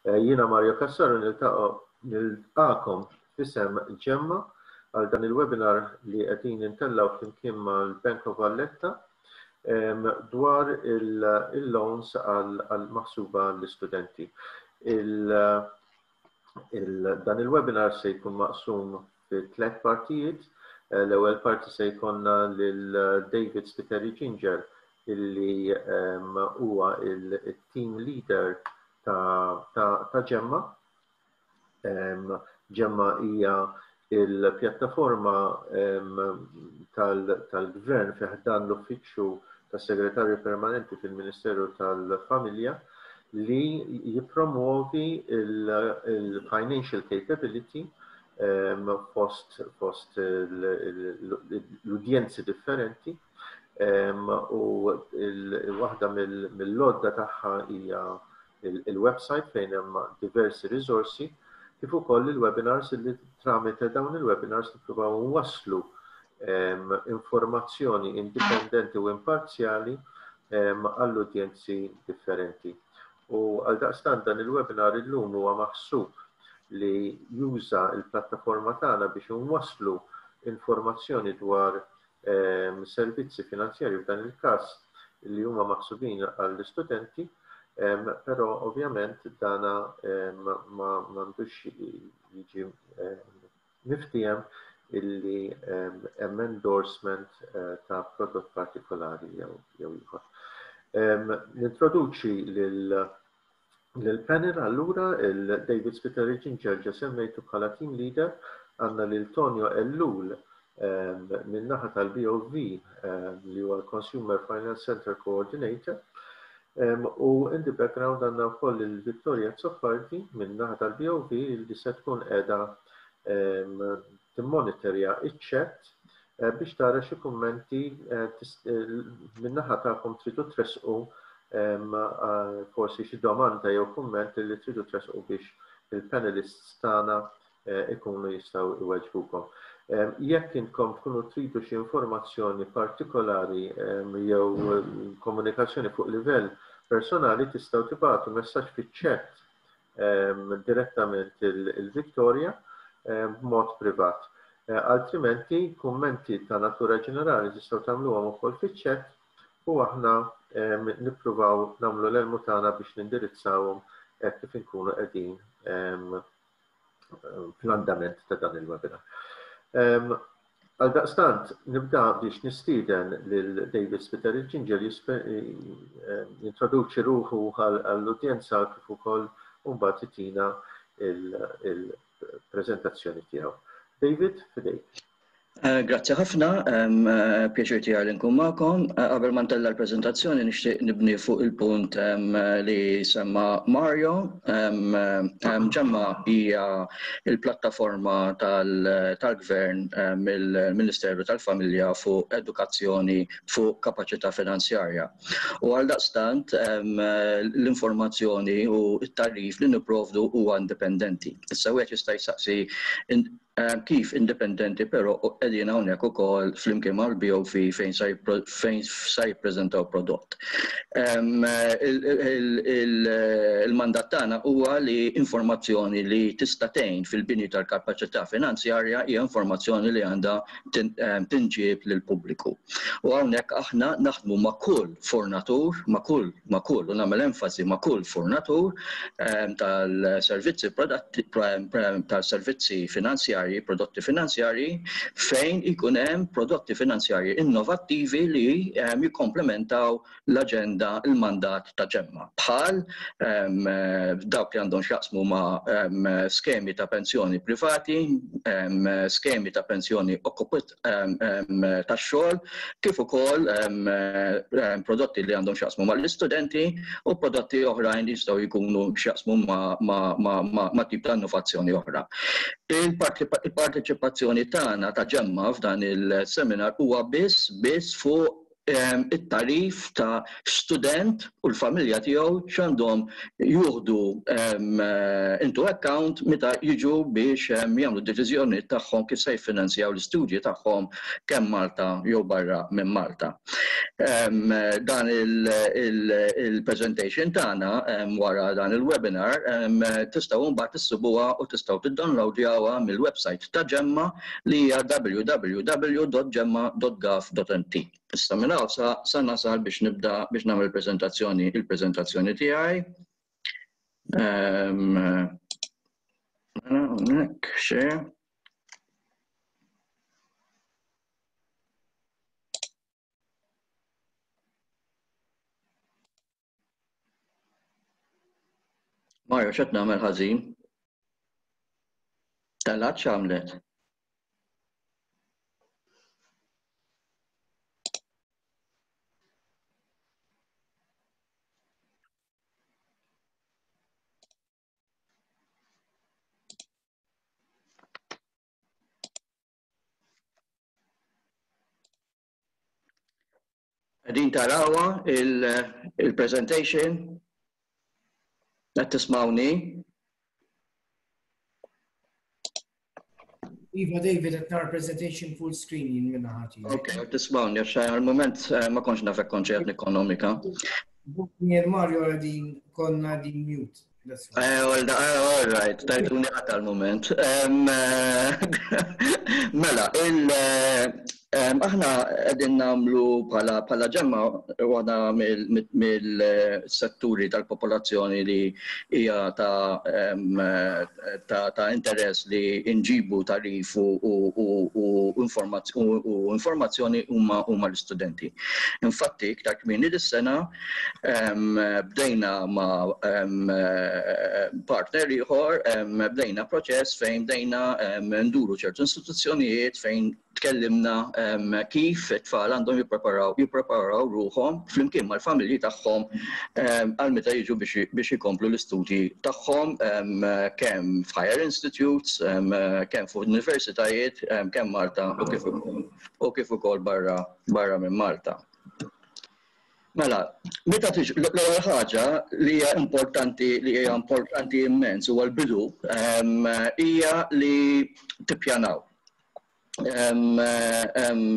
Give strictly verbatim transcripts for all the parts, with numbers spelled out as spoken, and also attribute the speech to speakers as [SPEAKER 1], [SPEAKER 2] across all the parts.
[SPEAKER 1] Eh, jiena Mario Cassar nilqagħkom f'isem Ġemma għal dan il-webinar li qegħdin intellgħu flimkien mal-Bank of Valletta dwar il-loans għal maħsuba l-istudenti. Dan il-webinar se jkun maqsum fi tliet partijiet. Eh, l-ewwel parti se jkollna lil David Spiteri Ginger, illi huwa il-team leader ta' Ġemma. Ġemma hija il-pjattaforma tal-gvern fi ħdan l-uffiċċju tas-Segretarju Permanenti fil-Ministeru tal-Familja li jipromuovi il-financial capability fost, fost l-udjenzi differenti, u waħda mill-għodda tagħha hija il-website fejn hemm diversi risorsi, kif ukoll il-webinars, li tramite dawn il-webinars nippruvaw nwasslu informazzjoni indipendenti u imparzjali għall-udjenzi differenti. U għal daqstant dan il-webinar illum huwa maħsub li juża il-plattaforma tagħna biex nwasslu informazzjoni dwar ehm, servizzi finanzjarji, f'dan il-każ li huma maħsubin għall-istudenti, ehm, però ovvjament dana ehm, ma m'għandux jiġi miftiem illi hemm endorsement eh, ta' prodott partikolari jew ieħor. Nintroduċi lil Lil-panel allura: il-David Spiteri Ginger, ġa semmejtu bħala team leader, għandna lil Tonio Ellul min-naħa tal-B O V, li huwa l-Consumer Finance Center Coordinator. U in the background għandna wkoll il-Vittoria Zoppardi min-naħa tal-B O V, li se tkun qiegħda timmonitorja iċ-chat eh, biex tara xi kummenti eh, eh, min-naħa tagħkom tridu tressqu, forsi xi domanda jew kumment li tridu tressqu biex il-panelists tagħna ikunu jistgħu iweġbukom. Jekk intkom tkunu tridu xi informazzjoni partikolari jew komunikazzjoni fuq livell personali, tistgħu tibagħtu messaġġ fiċ-chat direttament il-Victoria b'mod privat. Eh, altrimenti, kummenti ta' natura ġenerali tistgħu tagħmluhom ukoll fiċ-chat u aħna nippruvaw nagħmlu l-almu tagħna biex nindirizzawhom kif inkunu qegħdin fl-andament ta' dan il-webinar. Għal daqstant, nibda biex nistieden lil David Spiteri Ginger jintroduċi ruħu għall-udjenza kif ukoll mbagħad itina il-preżentazzjoni tiegħu. David, f'idejk.
[SPEAKER 2] Eh, grazzi ħafna, eh, pjaċir tiegħi li nkun magħkom. Eh, qabel ma ntella' l-preżentazzjoni, nixtieq nibni fuq il-punt li semma Mario. Ġemma hija il-plattaforma tal-gvern mill-Ministeru tal-Familja fuq edukazzjoni fuq kapaċità finanzjarja. U għal daqstant l-informazzjoni u t-tagħrif li nipprovdu huwa indipendenti. Issa wieħed jista' jsaqsi kif indipendenti, però qegħdin hawnhekk ukoll flimkien mal-B O V fejn sa jippreżentaw prodott. Il-mandat tagħna huwa li informazzjoni li tista' tgħin fil-bini tal-kapaċità finanzjarja hija informazzjoni li għandha tinġieb lill-pubbliku. U hawnhekk aħna naħdmu ma' kull fornatur, ma' kull, ma' kull, u nagħmel enfasi ma' kull fornatur tal-servizzi tal-servizzi finanzjarji, prodotti finanzjarji, fejn ikun hemm prodotti finanzjarji innovattivi li jikkomplementaw l-aġenda, il-mandat ta' Ġemma. Bħal dawk li għandhom x'jaqsmu ma' skemi ta' pensjoni privati, skemi ta' pensjoni ta' xogħol, kif ukoll prodotti li għandhom x'jaqsmu mal-istudenti u prodotti oħrajn li jistgħu jkunu x'jaqsmu ma' tip ta' innovazzjoni oħra. Il-parteċipazzjoni tagħna ta' Ġemma f'dan il-seminar huwa biss biss fuq it-tagħrif ta' student u l-familja tiegħu x'għandhom juħdu into account meta jiġu biex jagħmlu d-deċiżjoni tagħhom kif se jiffinanzjaw l-istudji tagħhom kemm Malta jew barra minn Malta. Dan il-presentation tagħna wara dan il-webinar tistgħu mbagħad issibuha u tistgħu tiddownloadjawha mill-website ta' Ġemma li hija w w w dot ġemma dot gov dot m t. Issa minn hawn sa, sa nasal biex nibda biex nagħmel il-preżentazzjoni il-preżentazzjoni tiegħi. Hawnhekk share. Mario, x'qed nagħmel ħażin? Telgħet x'għamlet? Qegħdin tarawha il-presentation? Qed tismawni?
[SPEAKER 3] Iva, David, qed nara presentation full screen jien minn naħa tiegħi.
[SPEAKER 2] Ok, qed tismawni, għax għal-moment ma kontx naf hekk kontx qed nikkonomika.
[SPEAKER 3] Jien Mario qegħdin konna qegħdin mute. That's right.
[SPEAKER 2] Eh, well, eh, all right, tajtuni qatt għal-moment. Mela, il, aħna qegħdin nagħmlu bħala, bħala Ġemma waħda mill-setturi tal-popolazzjoni li hija ta', ta', ta' interess li nġibu tagħrif u, u, u, u informazz-, u, u informazzjoni huma, huma l-istudenti. Infatti, iktar kmieni dis-sena, bdejna ma', em, partner ieħor, bdejna proċess fejn bdejna, em, nduru ċertu istituzzjonijiet fejn tkellimna, em, kif it-tfal għandhom jippreparaw, jippreparaw ruħhom flimkien mal-familji tagħhom, em, għal meta jiġu biex, biex ikomplu l-istudji tagħhom, em, kemm f'higher institutes, em, kemm fuq universitajiet, em, kemm Malta u kif ukoll, u kif ukoll barra, barra minn Malta. Mela, meta tiġ, l-ewwel ħaġa li hija importanti, li hija importanti immens huwa l-bidu, em, hija li tippjanaw. Em, em,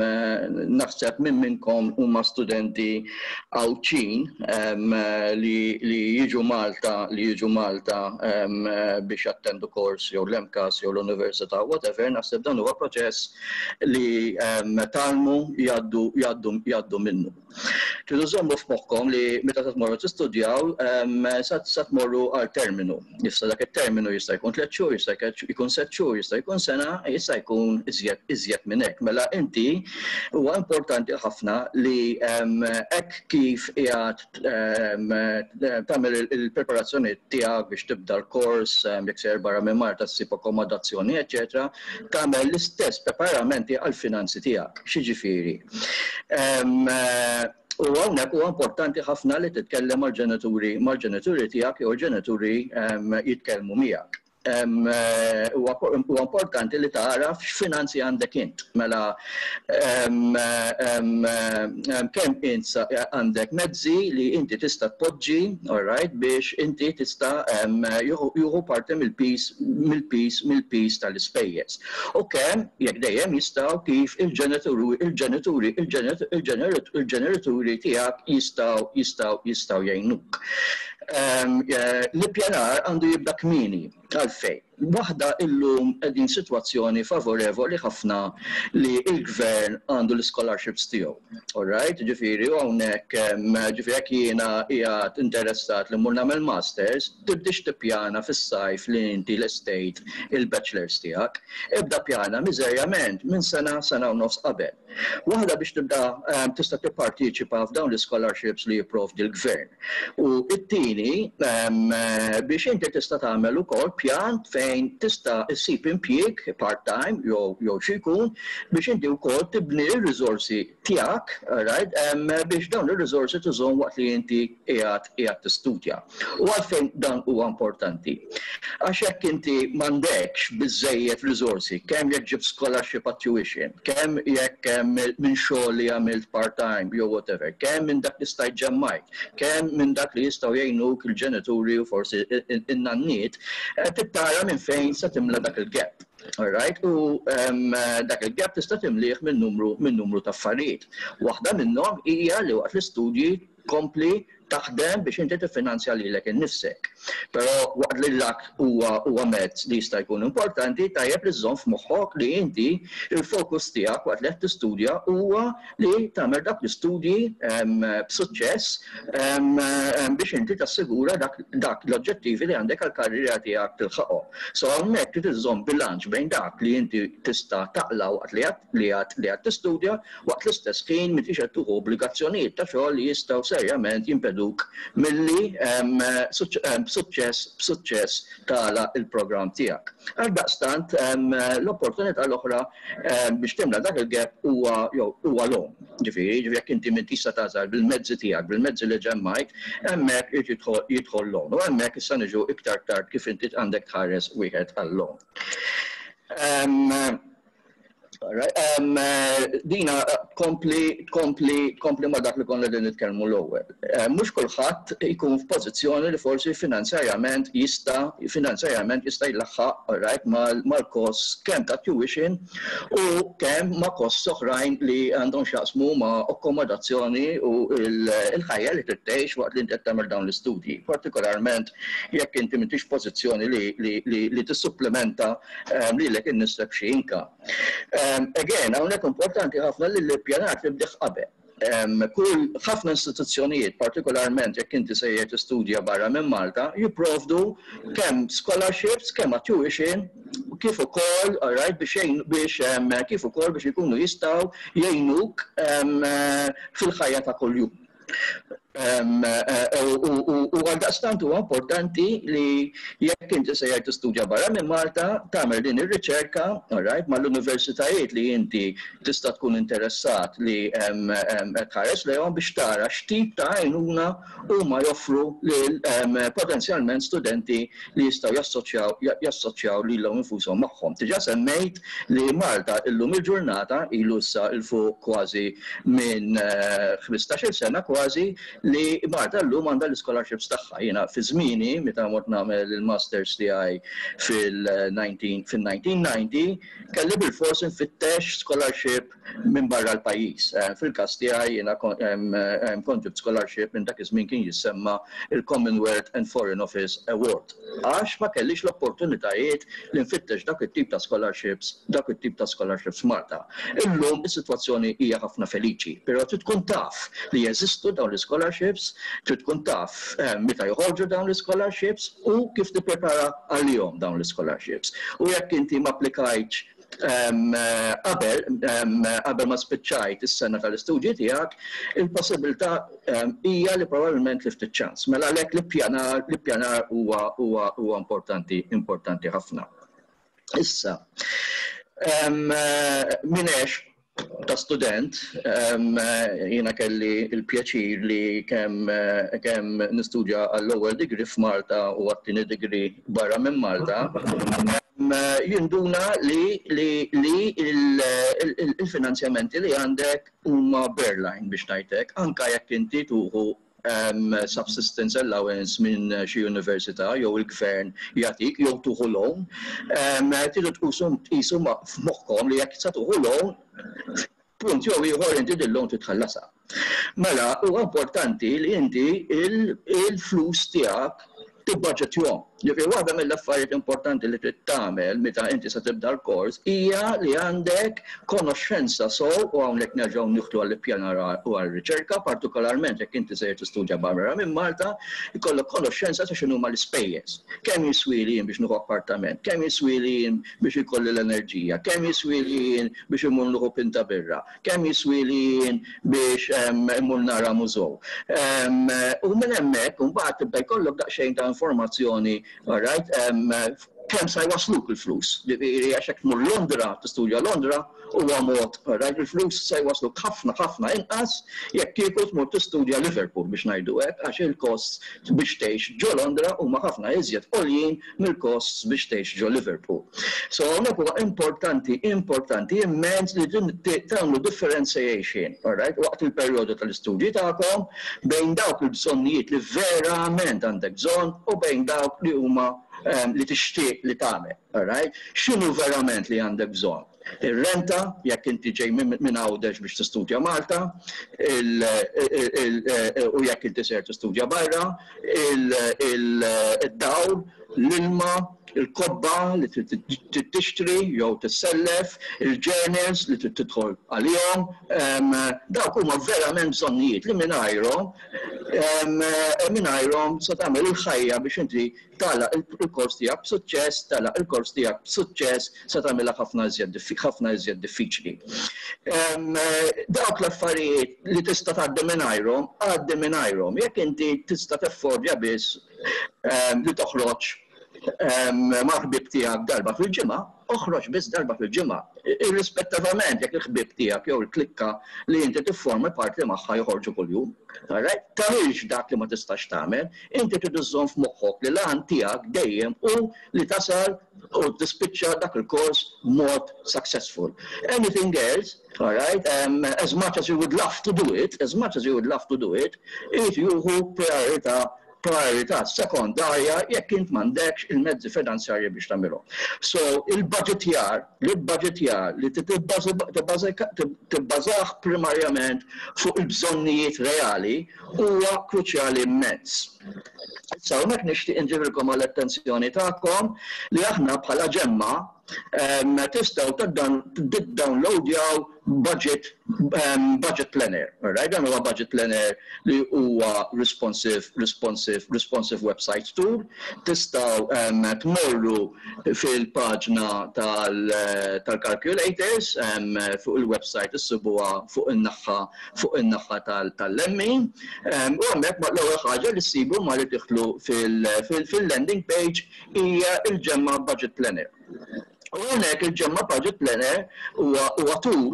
[SPEAKER 2] naħseb minn minnkom huma studenti Għawdxin, em, li, li jiġu Malta, li jiġu Malta, em, biex jattendu kors jew l-M C A S jew l-università, whatever, naħseb dan huwa proċess li, em, talmu jgħaddu, jgħaddu, jgħaddu minnu. Tridu żommu f'moħħkom li meta se tmorru tistudjaw, em, sa, sa tmorru għal terminu. Issa dak it-terminu jista' jkun tliet xhur, jista' jkun sitt xhur, jista' jkun sena, jista' jkun iżjed, iżjed minn hekk. Mela inti huwa importanti ħafna li, em, hekk kif qiegħed, em, tagħmel il-, il-preparazzjoni tiegħek biex tibda l-kors, em, jekk sejjer barra minn Malta ssib akkomodazzjoni, eċċetera, tagħmel l-istess preparamenti għall-finanzi tiegħek. X'jiġifieri? Em, U hawnhekk huwa importanti ħafna li titkellem mal-ġenituri, mal-ġenituri tiegħek jew il-ġenituri, em, jitkellmu miegħek. Em, huwa huwa importanti li tagħraf x'finanzi għandek int. Mela, em, em, em, kemm int sa-, għandek mezzi li inti tista' tpoġġi, all right, biex inti tista', em, juhu, juhu parti mill-pis, mill-pis, mill-pis tal-ispejjeż. U kemm jekk dejjem jistgħu kif il-ġenituri, il-ġenituri, il-ġenit-, il-ġenit-, il-ġenituri tiegħek jistgħu, jistgħu, jistgħu jgħinuk. Em, eh, l-ippjanar għandu jibda kmieni. Għalfejn. Waħda illum qegħdin sitwazzjoni favorevoli ħafna li l-gvern għandu l-scholarships tiegħu. All right, ġifieri, u hawnhekk, em, ġifieri jekk jiena qiegħed interessat li mmur nagħmel masters, tibdix tippjana fis-sajf li inti l-estate il-bachelors tiegħek. Ibda pjana miżerjament minn sena, sena u nofs qabel. Waħda biex tibda, em, tista' tipparteċipa f'dawn l-scholarships li jipprovdi l-gvern. U t-tieni, em, biex inti tista' tagħmel ukoll ikollok pjan fejn tista' issib impjieg part-time jew jew xi jkun biex inti wkoll tibni r-riżorsi tiegħek, right, biex dawn ir-riżorsi tużhom waqt li inti qiegħed qiegħed tistudja. U għalfejn dan huwa importanti? Għax jekk inti m'għandekx biżejjed riżorsi, kemm jekk ġibt scholarship at tuition, kemm jekk minn xogħol li għamilt part-time jew whatever, kemm minn dak li stajt ġemmajt, kemm minn dak li jistgħu jgħinuk il-ġenituri u forsi in-nanniet, eh, trid tara minn fejn se timla dak il-gap. All right? U um, dak il-gap tista' timlih minn numru minn numru ta' affarijiet. Waħda minnhom hija li waqt l-istudji tkompli taħdem biex inti tiffinanzja lilek innifsek. Però waqt li dak huwa huwa mezz li jista' jkun importanti, tajjeb li żżomm f'moħħok li inti il-fokus tiegħek waqt li qed tistudja huwa li tagħmel dak l-istudji b'suċċess biex inti tassigura dak, dak l-oġġettivi li għandek għall-karriera tiegħek tilħaqhom. So hawnhekk trid iżżomm bilanċ bejn dak li inti tista' taqla waqt li għad li għad li għad tistudja, waqt l-istess ħin m'intix qed tieħu obbligazzjonijiet ta' xogħol li jistgħu serjament jimpeduk milli b'suċċess b'suċċess tagħlaq il-programm tiegħek. Għaldaqstant l-opportunità l-oħra biex timla dak il-gap huwa huwa loan. Ġifieri, ġifieri jekk inti m'intix se tasal bil-mezzi tiegħek, bil-mezzi li ġemmajt, hemmhekk irid jidħol loan. U hemmhekk issa niġu iktar tard kif inti għandek tħares wieħed għal-loan. Um, dina kompli, kompli, kompli ma dak li konna din nitkellmu l-ewwel. Mhux kulħadd ikun f'pożizzjoni li forsi finanzjarjament jista' finanzjarjament jista' jlaħħaq, right, mal-kost kemm ta' tuition u kemm ma' kost oħrajn li għandhom x'jaqsmu ma' akkomodazzjoni u l-ħajja li tgħix waqt li inti tagħmel dawn l-istudji. Partikolarment jekk inti m'intix pożizzjoni li, li, li, li tissupplementa um, lilek innifsek xi income. Um, again, hawnhekk importanti ħafna li l-ippjanar tibdih qabel. Um, kull ħafna istituzzjonijiet, partikolarment jekk inti sejjer tistudja barra minn Malta, jipprovdu kemm scholarships, kemm tuition, kif ukoll, alright, biex biex um, kif ukoll biex ikunu jistgħu jgħinuk um, fil-ħajja ta' kuljum. U għaldaqstant huwa importanti li jekk inti sejjer tistudja barra minn Malta, tagħmel din ir-riċerka, alright, mal-universitajiet li inti tista' tkun interessat li tħares lejhom biex tara x'tip ta' għajnuna huma joffru lil potenzjalment studenti li jistgħu jassoċjaw jassoċjaw lilhom infushom magħhom. Diġà semmejt li Malta illum il-ġurnata, ilu issa 'il fuq kważi minn ħmistax-il sena kważi li Malta llum għandha l-scholarships tagħha. Jiena fi żmieni meta mort nagħmel il-masters tiegħi fil-elf disa' mija u disgħin kelli bil-fors nfittex scholarship minn barra l-pajjiż. Fil-każ tiegħi jiena kont ġibt scholarship minn dak iż-żmien kien jissemma il-Commonwealth and Foreign Office Award. Għax ma kellix l-opportunitajiet li nfittex dak it-tip ta' scholarships, dak it-tip ta' scholarships Malta. Illum is-sitwazzjoni hija ħafna feliċi, però trid tkun taf li jeżistu dawn l-scholarships, trid tkun taf meta joħorġu dawn l-scholarships u kif tipprepara għalihom dawn l-scholarships. U jekk inti ma applikajtx qabel qabel ma spiċċajt is-sena tal-istudji tiegħek, il-possibilità hija li probabbilment tlift iċ-ċans. Mela għalhekk l-ippjanar l-ippjanar huwa huwa huwa importanti importanti ħafna. Issa, min għex ta' student, jiena kelli il-pjaċir li kemm kemm nistudja għall-ewwel degree f'Malta u għat-tieni degree barra minn Malta, jinduna li li li il-finanzjamenti li għandek huma barely, biex ngħidlek, anka jekk inti tieħu um, subsistence allowance minn xi università jew il-gvern jagħtik jew tieħu loan, um, tridu tqisu tqisu f'moħħkom li jekk se tieħu loan, punt jew ieħor inti din loan titħallasha. Mela huwa importanti li inti il-flus tiegħek tibbaġġetjhom. Ġifieri waħda mill-affarijiet importanti li trid tagħmel meta inti se tibda l-kors hija li għandek konoxxenza sew, u hawnhekk nerġgħu nidħlu għall-ippjanar u għall-riċerka, partikolarment jekk inti se tistudja barra minn Malta, ikollok konoxxenza ta' x'inhuma l-ispejjeż. Kemm jiswili jien biex nieħu appartament, kemm jiswili jien biex ikolli l-enerġija, kemm jiswili jien biex immur nieħu pinta birra, kemm jiswili jien biex immur nara mużew. U minn hemmhekk imbagħad tibda jkollok daqsxejn ta' informazzjoni. all right, um, kemm sa jwasluk il-flus. Ġifieri għax jekk tmur Londra, tistudja Londra, huwa mod, right, il-flus se jwasluk ħafna ħafna inqas jekk kieku tmur tistudja Liverpool, biex ngħidu hekk, għax il-costs biex tgħix ġo Londra huma ħafna iżjed għoljin mill-costs biex tgħix ġo Liverpool. So hawnhekk huwa importanti, importanti immens li tagħmlu differentiation, all right, waqt il-perjodu tal-istudji tagħkom bejn dawk il-bżonnijiet li verament għandek bżonn u bejn dawk li huma li tixtieq li tagħmel, all right? X'inhu verament li għandek bżonn? Ir-renta, jekk inti ġej minn Għawdex biex tistudja Malta, u jekk inti ser tistudja barra, il-dawl, l-ilma, il-kotba li trid tixtri jew tissellef, il-journals li trid tidħol għalihom, dawk huma verament bżonnijiet li mingħajrhom mingħajrhom se tagħmel il-ħajja biex inti tagħlaq il-kors tiegħek b'suċċess, tagħlaq il-kors tiegħek b'suċċess se tagħmilha ħafna iżjed ħafna iżjed diffiċli. Dawk l-affarijiet li tista' tgħaddi mingħajrhom, għaddi mingħajrhom. Jekk inti tista' teffordja biss li toħroġ ma' ħbib tiegħek darba fil-ġimgħa, oħroġ biss darba fil-ġimgħa. Irrispettivament jekk il-ħbib tiegħek jew il-klikka li inti tifforma parti magħha joħorġu kuljum. Tagħmilx dak li ma tistax tagħmel, inti trid iżżomm f'moħħok li l-għan tiegħek dejjem hu li tasal u tispiċċa dak il-kors mod successful. Anything else, all right, um, as much as you would love to do it, as much as you would love to do it, it juhu priorità priorità sekondarja jekk int m'għandekx il-mezzi finanzjarji biex tagħmilhom. So il-budgetjar, il-budgetjar li tibbażah primarjament fuq il-bżonnijiet reali huwa kruċjali immens. Issa hawnhekk nixtieq inġibilkom għall-attenzjoni tagħkom li aħna bħala ĠEMMA tistgħu tiddownloadjaw budget budget planner. Right? Dan huwa budget planner li huwa responsive responsive responsive website tool. Tistgħu tmorru fil-paġna tal-calculators fuq il-website, issibuha fuq in-naħa fuq in-naħa tal-Lemmy. U hemmhekk l-ewwel ħaġa li ssibu ma li tidħlu fil-landing page hija il-ĠEMMA budget planner. U hawnhekk il-ĠEMMA budget planner huwa tool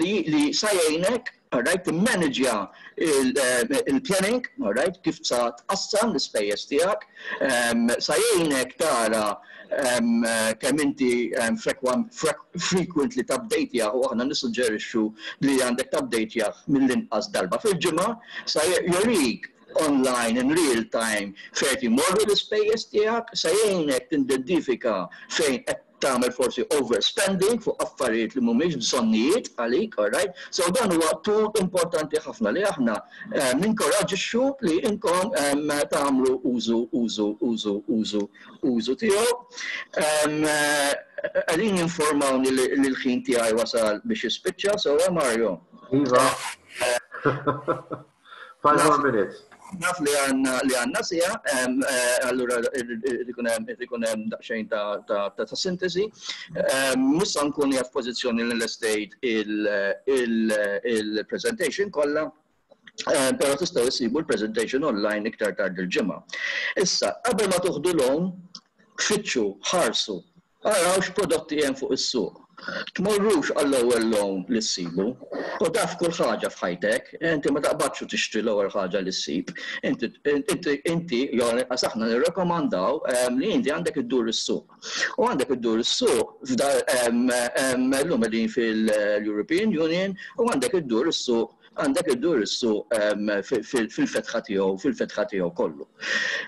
[SPEAKER 2] li li sa jgħinek, alright, timmanagja il-planning, alright, kif sa tqassam l-ispejjeż tiegħek, sa jgħinek tara kemm inti frequently tabdejtjah, u aħna nissuġġerixxu li għandek tabdejtjah mill-inqas darba fil-ġimgħa, sa jurik online in real time fejn imorru l-ispejjeż tiegħek, sa jgħinek tidentifika fejn qed tagħmel forsi overspending fuq affarijiet li mhumiex bżonnijiet għalik, all right? So dan huwa tool importanti ħafna li aħna ninkoraġixxu li inkom tagħmlu użu użu użu użu użu tiegħu. Qegħdin jinformawni li l-ħin tiegħi wasal biex jispiċċa, so Mario.
[SPEAKER 1] Iva. Five more minutes.
[SPEAKER 2] Naf li għandna li għandna siegħa, allura ikun hemm daqsxejn ta' sintesi. Mhux sa nkun f'pożizzjoni li lestejt il-presentation kollha, però tistgħu issibu l-presentation online iktar tard il-ġimgħa. Issa, qabel ma tuħdu loan, fittxu, ħarsu, araw x'prodotti hemm fuq is-suq. Tmorrux għall-ewwel loan li ssibu. U taf kull ħaġa f'ħajtek, inti ma taqbadx u tixtri l-ewwel ħaġa li ssib. Inti, inti, jew aħna nirrekomandaw li inti għandek iddur is-suq. U għandek iddur is-suq llum qegħdin fil-European Union u għandek iddur is-suq għandek iddur is-suq fil-fetħa tiegħu, fil-fetħa tiegħu kollu.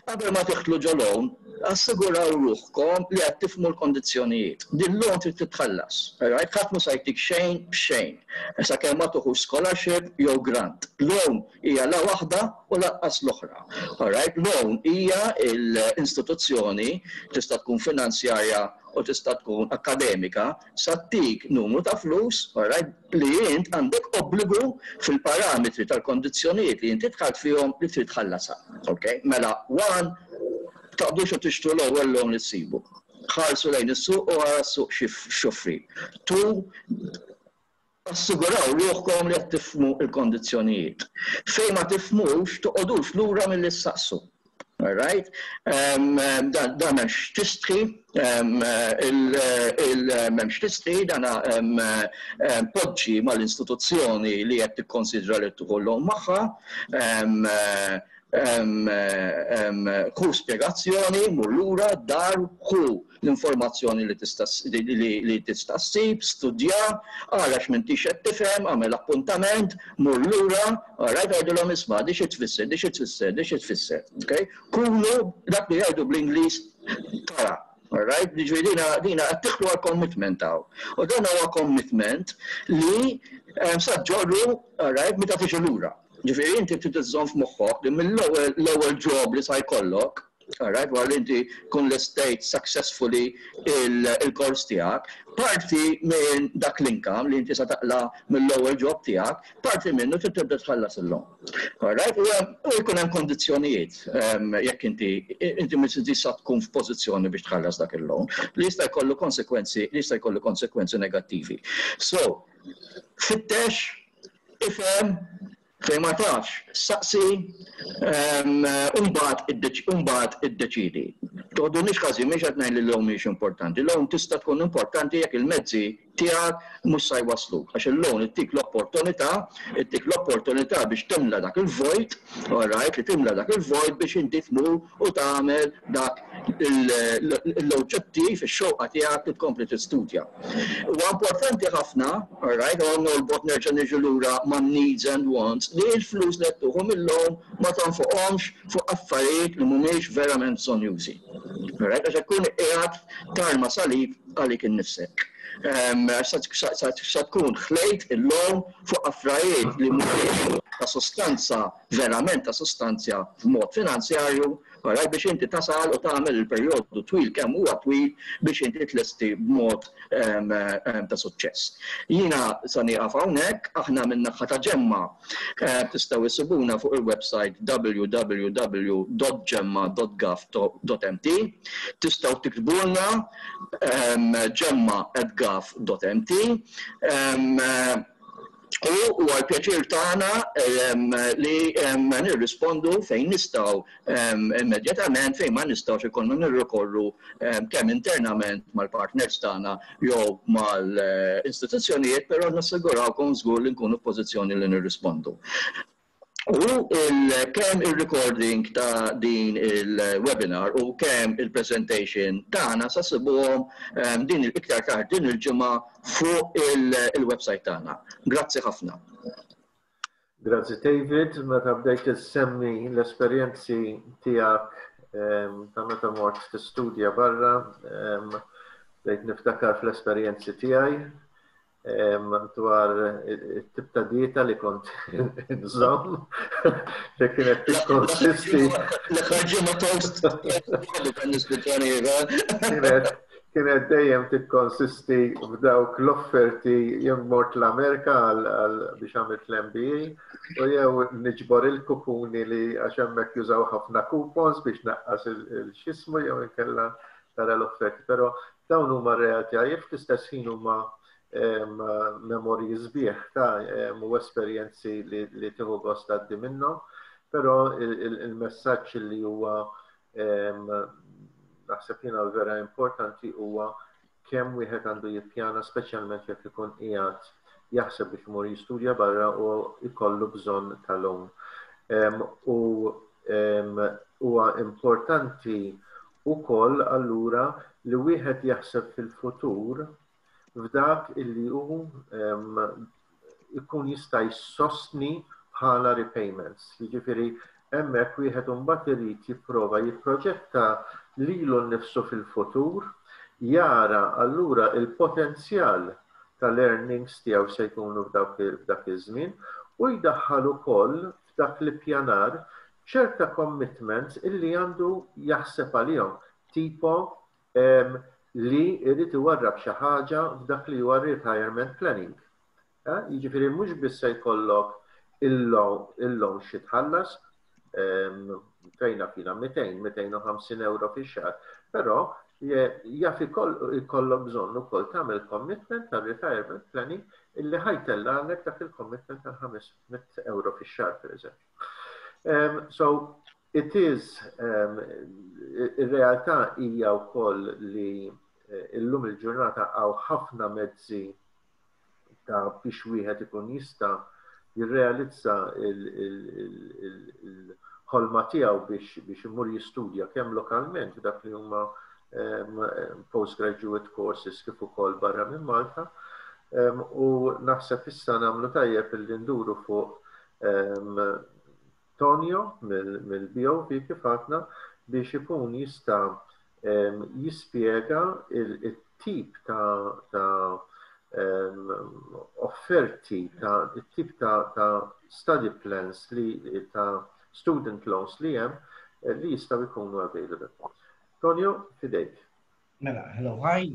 [SPEAKER 2] Qabel ma tidħlu ġo loan, assiguraw ruħkom li qed tifhmu l-kondizzjonijiet. Din loan trid titħallas. Right? Ħadd mhu se jtik xejn b'xejn. Sakemm ma tuħux scholarship jew grant. Loan hija la waħda u lanqas l-oħra. Alright? Loan hija l-istituzzjoni, tista' tkun finanzjarja u tista' tkun akademika, sa ttik numru ta' flus, alright, li int għandek obbligu fil-parametri tal-kondizzjonijiet li inti dħalt fihom li trid tħallasha. Okay? Mela, one, taqbdux u tixtru l-ewwel loan li ssibu. Ħarsu lejn is-suq u ara s-suq x'joffri. Two, assiguraw ruħkom li qed tifhmu l-kondizzjonijiet. Fejn ma tifhmux, toqgħodux lura milli ssaqsu. All right? Um, dan m'hemmx tistħi, m'hemmx tistħi, dan poġġi mal-istituzzjoni li qed tikkonsidra li tieħu loan magħha, ħu spjegazzjoni, mur lura, dar, ħu l-informazzjoni li tista' li tista' ssib, studja, ara x'm'intix qed tifhem, għamel appuntament, mur lura, alright, għidilhom isma' di xi tfisser, di xi tfisser, di xi tfisser. Okay? Kunu dak li jgħidu bl-Ingliż tara. Alright, ġifieri dina dina qed tidħlu għal commitment hawn. U dan huwa commitment li sa ġorru, alright, meta tiġi lura. Ġifieri inti trid iżżomm f'moħħok li mill-ewwel l-ewwel job li sa jkollok, alright, wara li inti kun l-estate successfully il-kors tiegħek, parti minn dak l-income li inti sa taqla mill-ewwel job tiegħek, parti minnu trid tibda tħallas il-loan. Alright, u jkun hemm kondizzjonijiet jekk inti inti mhux sa tkun f'pożizzjoni biex tħallas dak il-loan li jista' jkollu konsekwenzi li jista' jkollu konsekwenzi negattivi. So, fittex, ifhem, fejn ma tafx, saqsi, umbagħad umbagħad iddeċidi. Toħdunix ħażin, mhix qed ngħid li l-loan mhix importanti. Loan tista' tkun importanti jekk il-mezzi tiegħek mhux sa jwasluk. Għax il-loan ittik l-opportunità, ittik l-opportunità biex timla dak il-vojt, alright, li timla dak il-vojt biex inti tmur u tagħmel dak l-oġġettiv, ix-xewqa tiegħek li tkompli tistudja. Huwa importanti ħafna, alright, u norbot nerġa' niġu lura ma' needs and wants, li l-flus li qed tieħu mill-loan ma tonfoqhomx fuq affarijiet li mhumiex verament bżonnjużi. Alright, għax ikun qiegħed tarma salib għalik innifsek. Sa tkun ħlejt il-loan fuq affarijiet li mhumiex ta' sostanza, verament ta' sostanza f'mod finanzjarju, alright, biex inti tasal u tagħmel il-perjodu twil kemm huwa twil biex inti tlesti b'mod ta' suċċess. Jiena sa nieqaf hawnhekk, aħna minn naħa ta' Ġemma tistgħu issibuna fuq il-website w w w dot gemma dot gov dot m t, tistgħu tiktbulna gemma at gov dot m t u huwa l-pjaċir tagħna li nirrispondu fejn nistgħu immedjatament, fejn ma nistgħux ikollna nirrikorru kemm internament mal-partners tagħna jew mal-istituzzjonijiet, però nassigurawkom żgur li nkunu f'pożizzjoni li nirrispondu. U kemm il-recording ta' din il-webinar u kemm il-presentation tagħna sa ssibuhom din il-iktar tard din il-ġimgħa fuq il-website tagħna. Grazzi ħafna.
[SPEAKER 1] Grazzi, David, meta bdejt issemmi l-esperjenzi tiegħek ta' meta mort tistudja barra, bdejt niftakar fl-esperjenzi tiegħi dwar it-tip ta' dieta li kont nżomm, li kienet tikkonsisti.
[SPEAKER 2] L-aħħar ġimgħa toast
[SPEAKER 1] Kienet kienet dejjem tikkonsisti f'dawk l-offerti jew mort l-Amerika għal biex għamilt l-M B A u jew niġbor il-kupuni li għax hemmhekk jużaw ħafna coupons biex naqqas il-xismu jew inkella tara l-offerti. Però dawn huma realtajiet, fl-istess ħin huma memorji sbieħ ta' u esperjenzi li tieħu gost għaddi minnhom, però il-messaġġ li huwa naħseb jiena vera importanti huwa kemm wieħed għandu jippjana, speċjalment jekk ikun qiegħed jaħseb biex imur jistudja barra u jkollu bżonn tal-loan. U huwa importanti wkoll allura li wieħed jaħseb fil-futur f'dak illi hu ikun jista' jsostni bħala repayments. Jiġifieri hemmhekk wieħed imbagħad irid jipprova jipproġetta lilu nnifsu fil-futur, jara allura il-potenzjal tal-earnings tiegħu se jkunu f'dak iż-żmien u jdaħħal ukoll f'dak l-ippjanar ċerta commitments illi għandu jaħseb għalihom, tipo li jrid iwarrab xi ħaġa f'dak li huwa retirement planning. Jiġifieri mhux biss se jkollok il-loan xi tħallas fejna fina mitejn, mitejn u ħamsin euro fix-xahar, però jaf ikollok bżonn ukoll tagħmel commitment tal retirement planning illi ħa jtellagħlek dak il-commitment tal ħames mitt euro fix-xahar, pereżempju. So It is, um, ir-realtà hija wkoll li eh, illum il-ġurnata hawn ħafna mezzi ta' biex wieħed ikun jista' jirrealizza il-ħolma tiegħu biex biex imur jistudja kemm lokalment dak li huma um, postgraduate courses kif ukoll barra minn Malta. Um, u naħseb issa nagħmlu tajjeb illi nduru fuq um, Tonio mill-B O V kif għedna biex ikun jista' um, jispjega il-tip ta', ta um, offerti, ta' tip ta', ta study plans li ta' student loans li hemm eh, li jistgħu jkunu available. Tonio, fidejk.
[SPEAKER 3] Mela, hello, hi,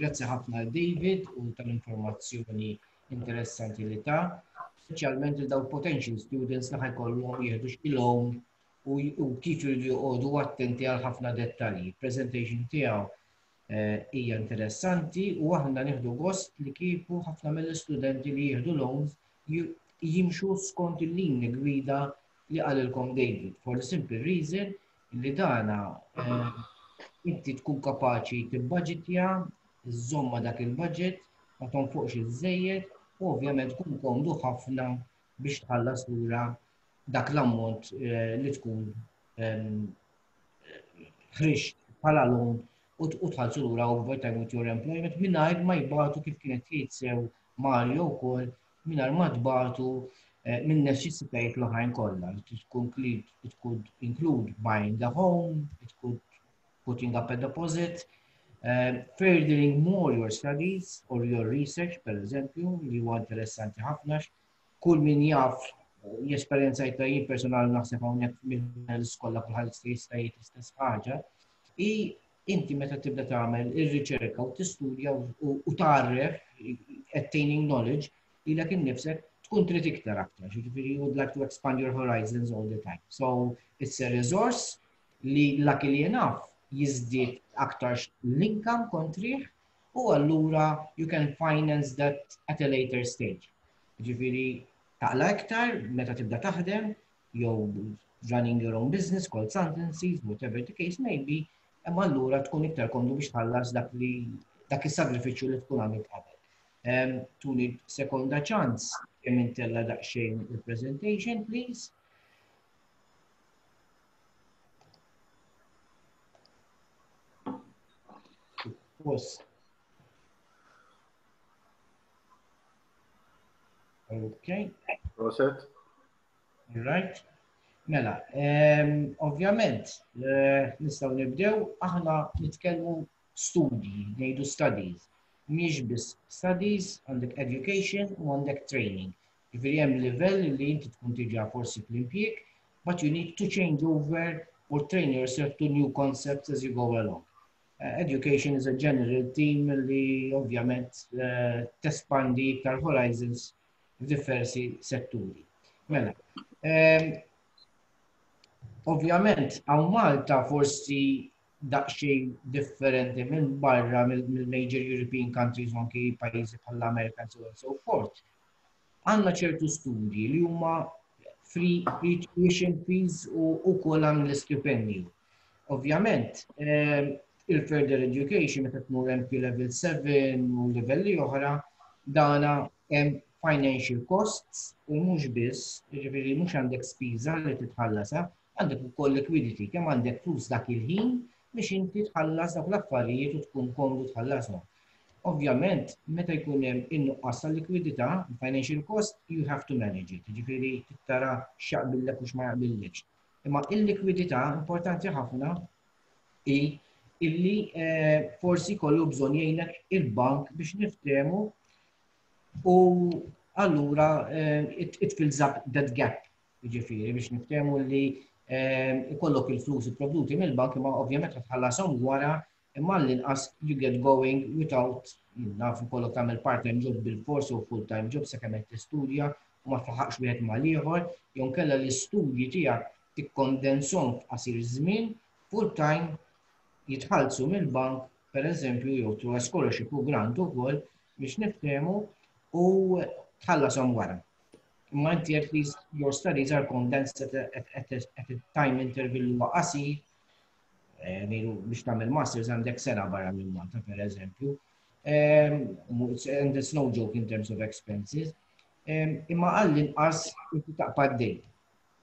[SPEAKER 3] grazzi ħafna David u tal-informazzjoni interessanti li ta, speċjalment il daw potential students li ħa jkollhom jieħdu xi loan u, u kif jridu joqogħdu attenti għal ħafna dettalji. Presentation tiegħu eh, hija interessanti u aħna nieħdu gost li kieku ħafna mill-istudenti li jieħdu loans jimxu skont il-linji gwida li qalilkom David. For the simple reason li dana eh, inti tkun kapaċi tibbaġitja, iżżomma dak il-budget, ma tonfoqx iż-żejjed u ovvjament tkun komdu ħafna biex tħallas lura dak l-ammont eh, li tkun ehm, ħriġt bħala loan u tħallsu lura over time with your employment mingħajr ma jbatu, kif kienet jgħid sew Mario wkoll, mingħajr ma tbatu eh, minn neċessitajiet l-oħrajn kollha. It could include buying a home, it could putting up a deposit, uh, furthering more your studies or your research, per eżempju, li huwa interessanti ħafna. Kull min jaf jesperjenzajtha jien personali, naħseb hawnhekk mill-iskola kulħadd jista' jgħid l-istess ħaġa. I inti meta tibda tagħmel ir-riċerka u tistudja u tagħraf, attaining knowledge, lilek innifsek tkun trid iktar aktar. Ġifieri you would like to expand your horizons all the time. So it's a resource li luckily enough jiżdied aktar l-income kontrih u allura you can finance that at a later stage. Ġifieri taqla iktar meta tibda taħdem jew running your own business, consultancies, whatever the case may be, imma allura tkun iktar komdu biex tħallas dak li dak is-sagrifiċċju li tkun għamilt qabel. Um, tuni sekonda ċans kemm intella daqsxejn il-presentation, please. Post. Okay.
[SPEAKER 1] Proset.
[SPEAKER 3] Right. Mela, um, ovvjament, uh, nistgħu nibdew, aħna nitkellmu studji, ngħidu studies. Mhix biss studies, għandek education u għandek training. Ġifieri hemm livell li inti tkun diġà forsi fl-impjieg, but you need to change over or train yourself to new concepts as you go along. Uh, education is a general theme li ovvjament uh, tespandi iktar horizons f'diversi setturi. Mela, um, ovvjament, hawn Malta forsi daqsxejn differenti minn barra mill-major European countries u anki pajjiżi bħall-Amerika and so on and so forth. Għandna ċertu studji li huma free, free tuition fees u ukoll għan l-istipendju. Ovvjament, eh, il-further education meta tmur M Q level seven u livelli oħra, dana hemm financial costs u mhux biss, jiġifieri mhux għandek spiża li titħallasa, għandek ukoll liquidity, kemm għandek flus dak il-ħin biex inti tħallas dak l-affarijiet u tkun komdu tħallashom. Ovvjament, meta jkun hemm in-nuqqas ta' likwidità, financial cost, you have to manage it. Jiġifieri tara x'jaqbillek u x'ma jaqbillekx. Imma il-likwidità importanti ħafna i illi eh, forsi kollu bżonn jgħinek il-bank biex niftehmu u allura eh, it, it fills up that gap. Jiġifieri biex niftehmu li eh, ikollok il-flus ipprovduti mill-bank, imma ovvjament tħallasom wara, imma l-inqas you get going without, naf, ikollok tagħmel part-time job bil-fors u full-time job sakemm qed tistudja u ma tlaħaqx wieħed mal-ieħor, jew kellha l-istudji tiegħek tikkondensahom f'qasir żmien full-time jitħallsu mill-bank, per eżempju, jew through a scholarship u grant ukoll biex niftehmu u tħallasom wara. Imma inti at least your studies are condensed at a, at, at, a, at a time interval li huwa qasir, eh, biex tagħmel masters għandek sena barra minn Malta, per eżempju. Um, and it's no joke in terms of expenses. Um, imma għall-inqas inti taqpa' d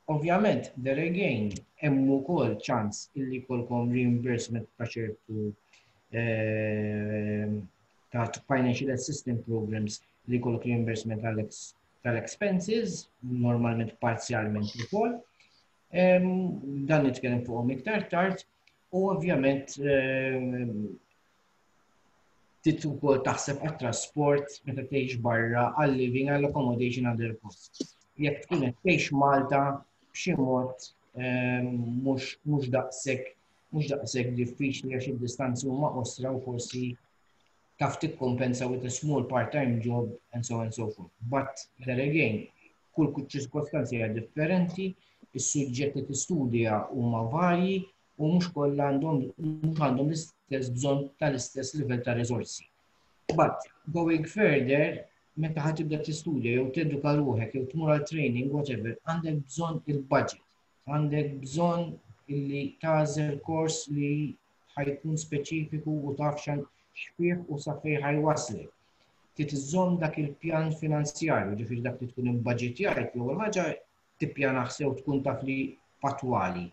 [SPEAKER 3] Ovvjament, there again, hemm ukoll ċans illi jkollkom reimbursement ta' ċertu ehm, ta' financial assistance programs li jkollok reimbursement tal-expenses, normalment parzjalment ukoll. Ehm, dan nitkellem fuqhom iktar tard u ovvjament ehm, trid ukoll taħseb għat-trasport meta tgħix barra għal-living, għall-accommodation, other costs. Jekk tkun qed tgħix Malta b'xi mod ehm, mhux daqshekk mhux daqshekk diffiċli għax id-distanzi huma qosra u forsi taf tikkompensa with a small part-time job and so on and so forth. But there again, kull ċirkostanzi hija differenti, is-suġġetti tistudja huma varji u mhux kollha għandhom mhux għandhom l-istess bżonn tal-istess livell ta' riżorsi. But going further, meta ħa tibda tistudja jew teduka ruħek jew tmur għal training, whatever, għandek bżonn il-budget, għandek bżonn illi tagħżel kors li ħa jkun speċifiku u taf x'fih u sa fejn ħa jwasslek. Trid iżżomm dak il-pjan finanzjarju, ġifieri dak li tkun imbudgetjajt, l-ewwel ħaġa tippjana sew tkun taf li patwali.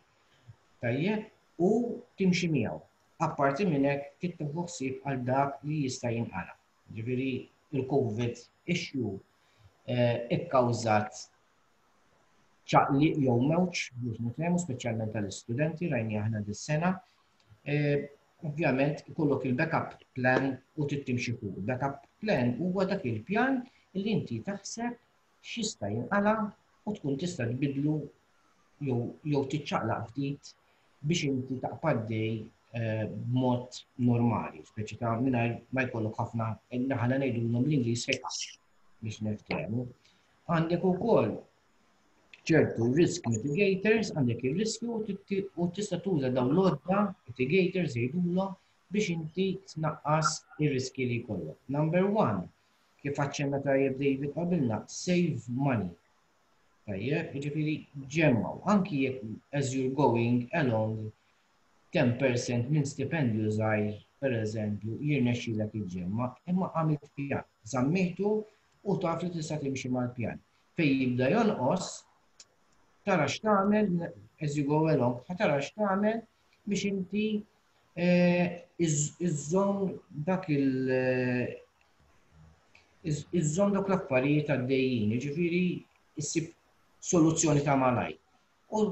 [SPEAKER 3] Tajjeb, u timxi miegħu. Apparti minn hekk trid tieħu ħsieb għal dak li jista' jinqala. Ġifieri il-COVID issue eh, ikkawżat ċaqliq jew mewġ biex nitkellmu speċjalment tal-istudenti rajni aħna dis-sena. Eh, ovvjament ikollok il-backup plan u trid timxi fuq. Il-backup plan huwa dak il-pjan li inti taħseb x'jista' jinqala u tkun tista' tbidlu jew tiċċaqlaq ftit biex inti taqpa' għaddej eh, b'mod normali, speċi ta' mingħajr ma jkollok ħafna aħna ngħidulhom bl-Ingliż biex niftehmu. Għandek ukoll ċertu risk mitigators, għandek il-riskju u tista' tuża dawn l-għodda mitigators jgħidulhom biex inti tnaqqas ir-riski li jkollok. Number one, kif aċċenna tajjeb David qabilna, save money. Tajjeb, jiġifieri ġemmgħu, anki jekk as you're going along ten percent minn stipendju żgħir, per eżempju, jirnexxilek iġġemma, imma għamilt pjan, żammejtu u taf li tista' timxi mal-pjan. Fej jibda jonqos, tara x'tagħmel as you go along, tara x'tagħmel biex inti eh, iżżomm dak il- eh, iżżomm dak l-affarijiet għaddejjin, jiġifieri issib soluzzjoni ta' malaj. U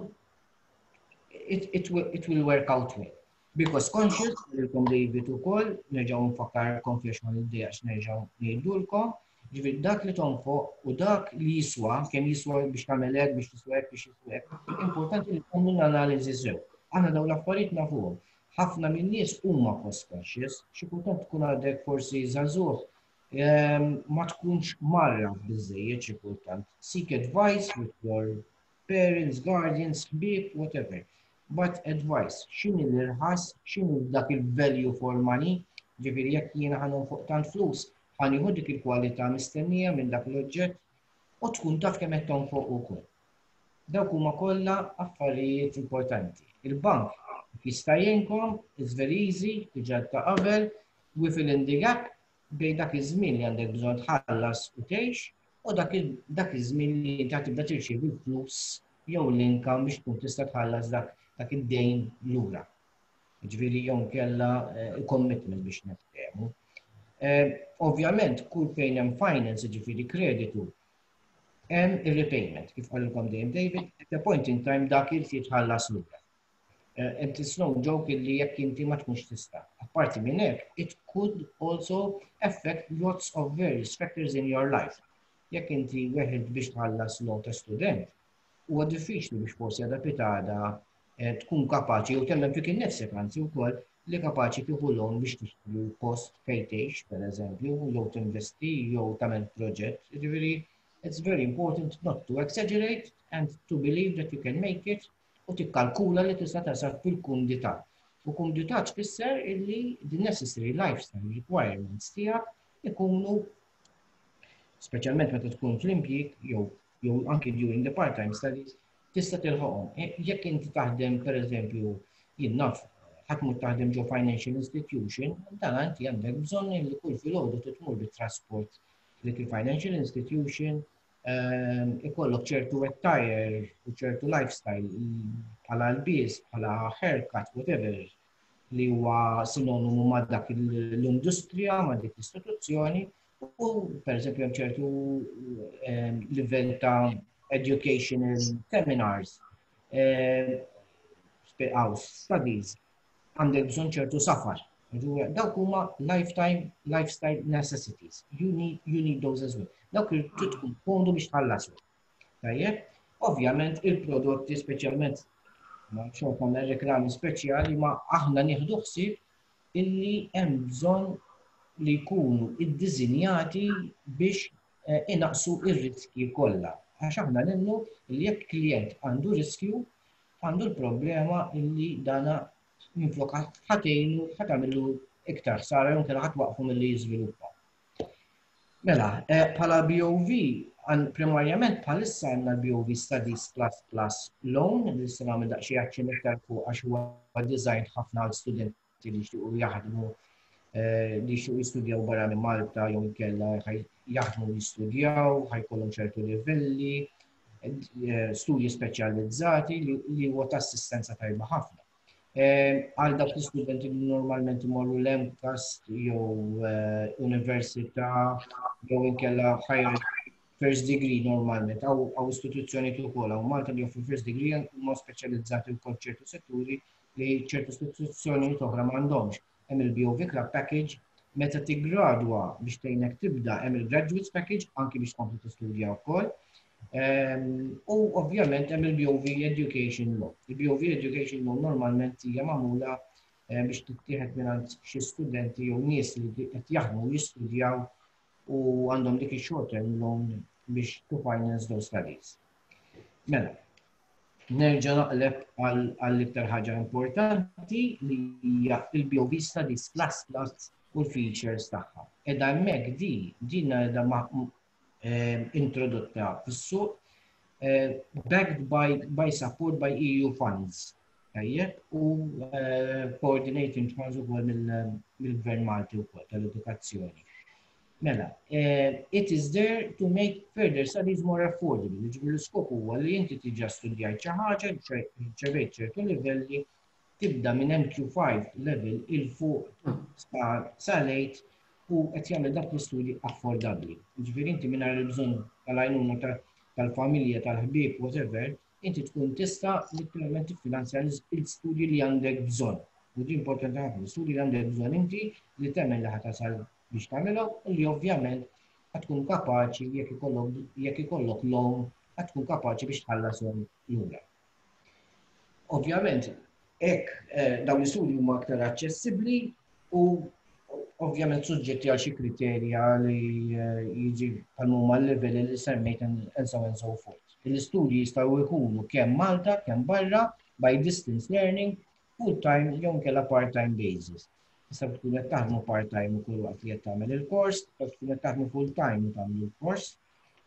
[SPEAKER 3] it, it, will, it will work out well. Because conscious, lilkom David ukoll, nerġgħu nfakkarkom fiex ma niddejaqx nerġgħu ngħidulkom, ġifieri dak li tonfoq u dak li jiswa, kemm jiswa biex tagħmel hekk, biex jiswa hekk, biex jiswa hekk, importanti li tagħmlu l-analiżi sew. Aħna dawn l-affarijiet nafuhom. Ħafna min-nies huma cost conscious, xi kultant tkun għadek forsi żagħżugħ ehm, ma tkunx marra biżejjed xi kultant. Seek advice with your parents, guardians, ħbieb, whatever. But advice, x'inhi l-irħas, x'inhi dak il-value for money, ġifieri jekk jiena ħa nonfoq tant flus, ħa nieħu dik il-kwalità mistennija minn dak l-oġġett u tkun taf kemm qed tonfoq ukoll. Dawk huma kollha affarijiet importanti. Il-bank jista' jgħinkom, it's very easy, diġà ta' qabel, we fill in the gap bejn dak iż-żmien li għandek bżonn tħallas u tgħix u dak iż-żmien li inti tibda tirċievi l-flus jew l-income biex tkun tista' tħallas dak dak id-dejn lura. Ġifieri jew kella eh, commitment biex niftehmu. Eh, ovvjament, kull fejn hemm finance, ġifieri kreditu, hemm il-repayment, kif qalilkom dejjem David, at a point in time dak il jitħallas lura. Eh, and it's no joke li jekk inti ma tkunx tista'. Apparti minn hekk, it could also affect lots of various factors in your life. Jekk inti weħilt biex tħallas loan ta' student, huwa diffiċli biex forsi għada pitgħada eh, tkun kapaċi jew temmen fik innifsek anzi wkoll li kapaċi tieħu loan biex tixtri post fejn tgħix, pereżempju, jew tinvesti jew tagħmel proġett. Ġifieri, it's very important not to exaggerate and to believe that you can make it u tikkalkula li tista' tasal fil-kumdità. U kumdità tfisser illi the necessary lifestyle requirements tiegħek ikunu speċjalment meta tkun fl-impjieg jew jew anki during the part-time studies, tista' tilħoqhom. E, jekk inti taħdem, pereżempju, jien naf, ħa tmur taħdem ġo financial institution, dan inti għandek bżonn li kull filgħodu tmur bit-trasport dik il-financial institution, ehm, ikollok ċertu attire u ċertu lifestyle bħala lbies, bħala haircut, whatever, li huwa sinonimu ma' dak l-industrija, ma' dik l-istituzzjoni, u per eżempju hemm ċertu ehm, livell ta' educational seminars, ehm, studies, għandek bżonn ċertu safar. Dawk huma lifetime, lifestyle necessities. You need, you need those as well. Dawk trid tkun komdu biex tħallasu. Tajjeb, ovvjament il-prodotti, speċjalment ma xorta nagħmel reklami speċjali, ma aħna nieħdu ħsieb illi hemm bżonn li jkunu iddiżinjati biex eh, inaqsu ir-riski kollha. Għax aħna nemnu li jekk klient għandu riskju, għandu l-problema illi dana minflok ħa tgħinu, ħa tagħmillu iktar ħsara jew inkella ħa twaqqfu milli jiżviluppa. Mela, eh, bħala B O V, primarjament bħalissa għandna l-B O V Studies Plus Plus Loan, li se nagħmel daqsxejn aċċenn iktar fuq għax huwa design ħafna għal studenti li jixtiequ jaħdmu, eh, li jixtiequ jistudjaw barra minn Malta jew inkella jaħdmu, jistudjaw, ħa jkollhom ċertu livelli, eh, studji speċjalizzati li huwa ta' assistenza tajba ħafna. Eh, għal dawk l-istudenti li normalment imorru l-MCAST jew università jew inkella higher first degree normalment, għaw istituzzjoni ukoll hawn Malta li joffru first degree, huma speċjalizzati wkoll ċertu setturi li ċertu istituzzjoni oħra m'għandhomx. Hemm il-B O V Club Package, meta tiggradwa biex tgħinek tibda, hemm il-Graduates Package anki biex tkompli tistudja wkoll. Ehm, u ovvjament hemm il-B O V Education Loan. Il-B O V Education Loan normalment hija magħmula eh, biex tittieħed minn xi studenti jew nies li qed jaħdmu, jistudjaw u għandhom dik il-short term loan biex to finance those studies. Mela, nerġa' naqleb għall-iktar ħaġa importanti li hija il-B O V Studies Plus Plus u l-features tagħha. Edha hemmhekk di, din edha eh, introdotta fis-suq, eh, backed by, by support by E U funds. Tajjeb, u eh, coordinating funds ukoll mill-Gvern Malti wkoll tal-edukazzjoni. Mela, eh, it is there to make further studies more affordable. Ġifieri l-iskop huwa li inti diġà studjajt xi ħaġa, ċevejt ċertu livelli, tibda minn N Q five level 'il fuq sa late u qed jagħmel dak l-istudji affordabbli. Ġifieri inti mingħajr il-bżonn tal-għajnuna tal-familja, tal-ħbieb, whatever, inti tkun tista' literalment tiffinanzja l-istudji li għandek bżonn. U di importanti ħafna, l-istudji li għandek bżonn inti li temmen li ħa tasal biex tagħmilhom u li ovvjament tkun kapaċi, jekk ikollok jekk ikollok loan, tkun kapaċi biex tħallashom lura. Ovvjament, hekk eh, dawn l-istudji huma aktar aċċessibbli u ovvjament suġġetti għal xi kriterja li eh, jiġi bħal huma l-livelli li semmejt and so and so forth. L-istudji jistgħu jkunu kemm Malta, kemm barra, by distance learning, full-time jew inkella part-time basis. Tista' tkun qed taħdmu part-time ukoll waqt li qed tagħmel il-kors, tista' tkun qed taħdmu full-time u tagħmel il-kors.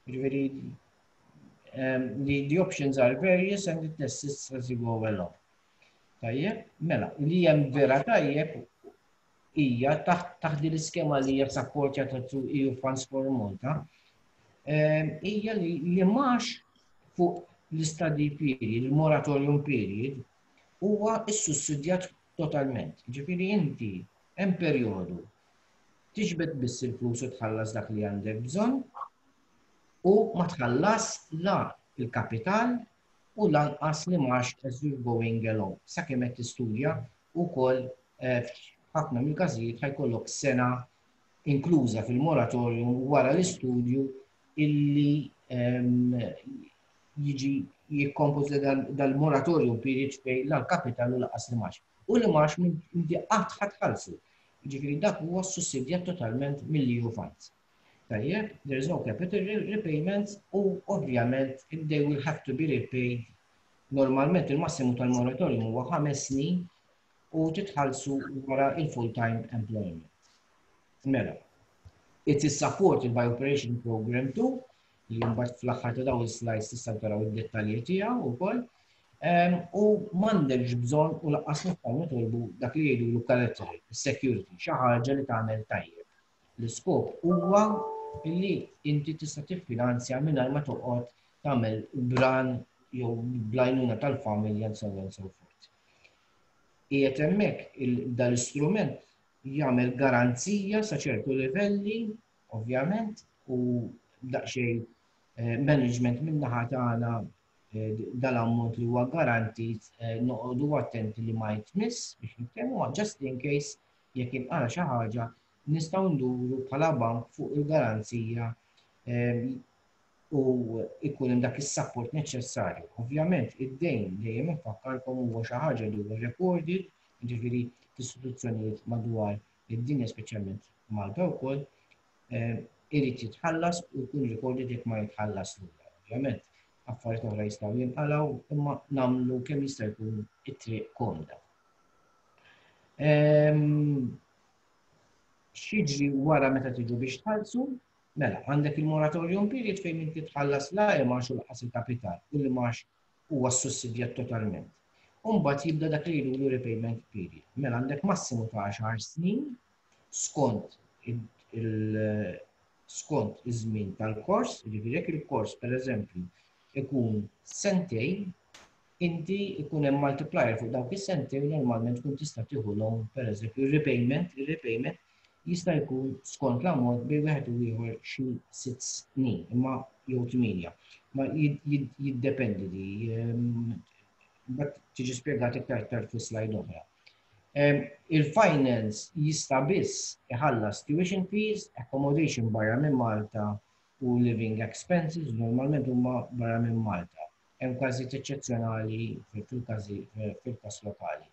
[SPEAKER 3] Ġifieri um, the, the options are various and it assists as you go along. Tajjeb, mela, li hemm vera tajjeb hija taħt din l-iskema li hija supportjata through E U Funds for Malta, hija li l-imgħax fuq l-study period, il-moratorium period, huwa issussidjat totalment. Ġifieri inti hemm perjodu tiġbed biss il-flus u tħallas dak li għandek bżonn u ma tħallas la il-kapital u lanqas l-imgħax as you're going along. Sakemm qed tistudja ukoll, eh, ħafna mill-każijiet ħa jkollok sena inkluża fil-moratorium wara l-istudju illi ehm, jiġi jikkompożi dal-moratorium period fejn la l-kapital u lanqas l-imgħax. U l-imgħax inti qatt ħa tħallsu. Ġifieri dak huwa sussidjat totalment mill-E U funds. Tajjeb, there is no capital repayments u ovvjament they will have to be repaid. Normalment il-massimu tal-moratorium huwa ħames snin u titħallsu wara il-full-time employment. Mela, it is supported by Operation Program two. li mbagħad fl-aħħar ta' dawn is-slides tistgħu taraw id-dettalji tiegħu wkoll. U m'għandekx bżonn u lanqas nistgħu nitolbu dak li jgħidu collateral, security, xi ħaġa li tagħmel tajjeb. L-iskop huwa illi inti tista' tiffinanzja mingħajr ma toqgħod tagħmel bran jew bl-għajnuna tal-familja and so on and so forth. Qiegħed hemmhekk dal-istrument jagħmel garanzija sa ċertu livelli, ovvjament, u daqsxejn eh, management min-naħa tagħna eh, dal-ammont li huwa garantit eh, noqogħdu attenti li ma jitmiss biex nitkellmu, just in case jekk inqala xi ħaġa, nistgħu nduru bħala bank fuq il-garanzija u ikun hemm dak is-support neċessarju. Ovvjament id-dejn, dejjem infakkarkom, huwa xi ħaġa li huwa recorded, jiġifieri f'istituzzjonijiet madwar id-dinja, speċjalment Malta wkoll, eh, irid jitħallas u jkun recorded jekk ma jitħallas lura. Ovvjament, affarijiet oħra jistgħu jinqalgħu, imma nagħmlu kemm jista' jkun it-triq komda. Ehm, x'jiġri wara meta tiġu biex tħallsu? Mela, għandek il-moratorium period fejn inti tħallas la imgħax u lanqas il-kapital u l-imgħax huwa sussidjat totalment. Umbagħad jibda dak li jgħidu repayment period. Mela, għandek massimu ta' għaxar snin skont il skont iż-żmien tal-kors, jiġifieri jekk il-kors, pereżempju, ikun sentejn, inti ikun hemm multiplier fuq dawk is-sentejn, normalment tkun tista' tieħu loan, pereżempju, repayment, il-repayment jista' jkun skont l-ammont bejn wieħed u ieħor xi sitt snin, imma jew tmienja. Ma jiddependi di, but tiġi spjegat iktar tard fi slide oħra. Il-finance jista' biss iħallas tuition fees, accommodation barra minn Malta u living expenses, normalment huma barra minn Malta. Hemm każijiet eċċezzjonali fil-każi fil-każ lokali.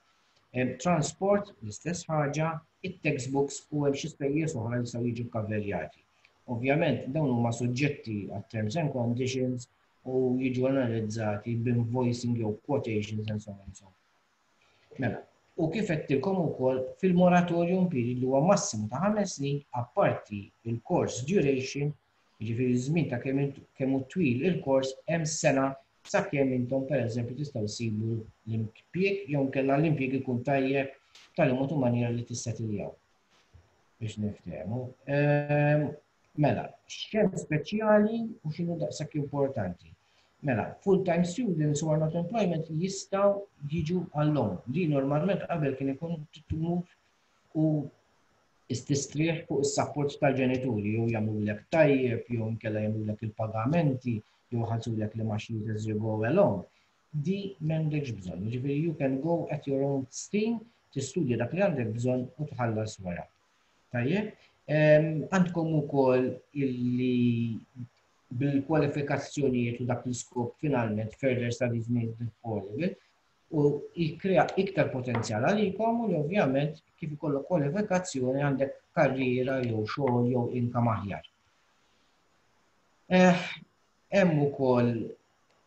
[SPEAKER 3] Transport, l-istess ħaġa, it-textbooks u hemm xi spejjeż oħra li jistgħu jiġu kaverjati. Ovvjament dawn huma suġġetti għat terms and conditions u jiġu analizzati b'invoicing jew quotations and so on and so on. Mela, u kif għedtilkom ukoll, fil-moratorium period li huwa massimu ta' ħames snin, apparti il-course duration, jiġifieri żmien ta' kemm kemm hu twil il-kors, hemm sena sakemm intom, pereżempju, tistgħu ssibu l-impjieg jew kellha l-impjieg ikun tajjeb tal mod u maniera li tissetiljaw. Biex niftehmu. Ehm, mela, x'hemm speċjali u x'inhu daqshekk importanti? Mela, full-time students who are not employment jistgħu jiġu għall-loan. Di normalment qabel kien ikun tmur u ististrieħ fuq is-support tal-ġenituri, jew jagħmlulek tajjeb, jew inkella jagħmlulek il-pagamenti, jew ħallsulek l-imgħaxijiet as you go along. Di m'għandekx bżonn. Ġifieri you can go at your own steam, tistudja dak li għandek bżonn u tħallas wara. Tajjeb, għandkom ukoll illi bil-kwalifikazzjonijiet u dak l-iskop finalment further studies made affordable u jikrea iktar potenzjal għalikom u li ovvjament kif ikollok kwalifikazzjoni għandek karriera jew xogħol jew income aħjar. Eh, hemm ukoll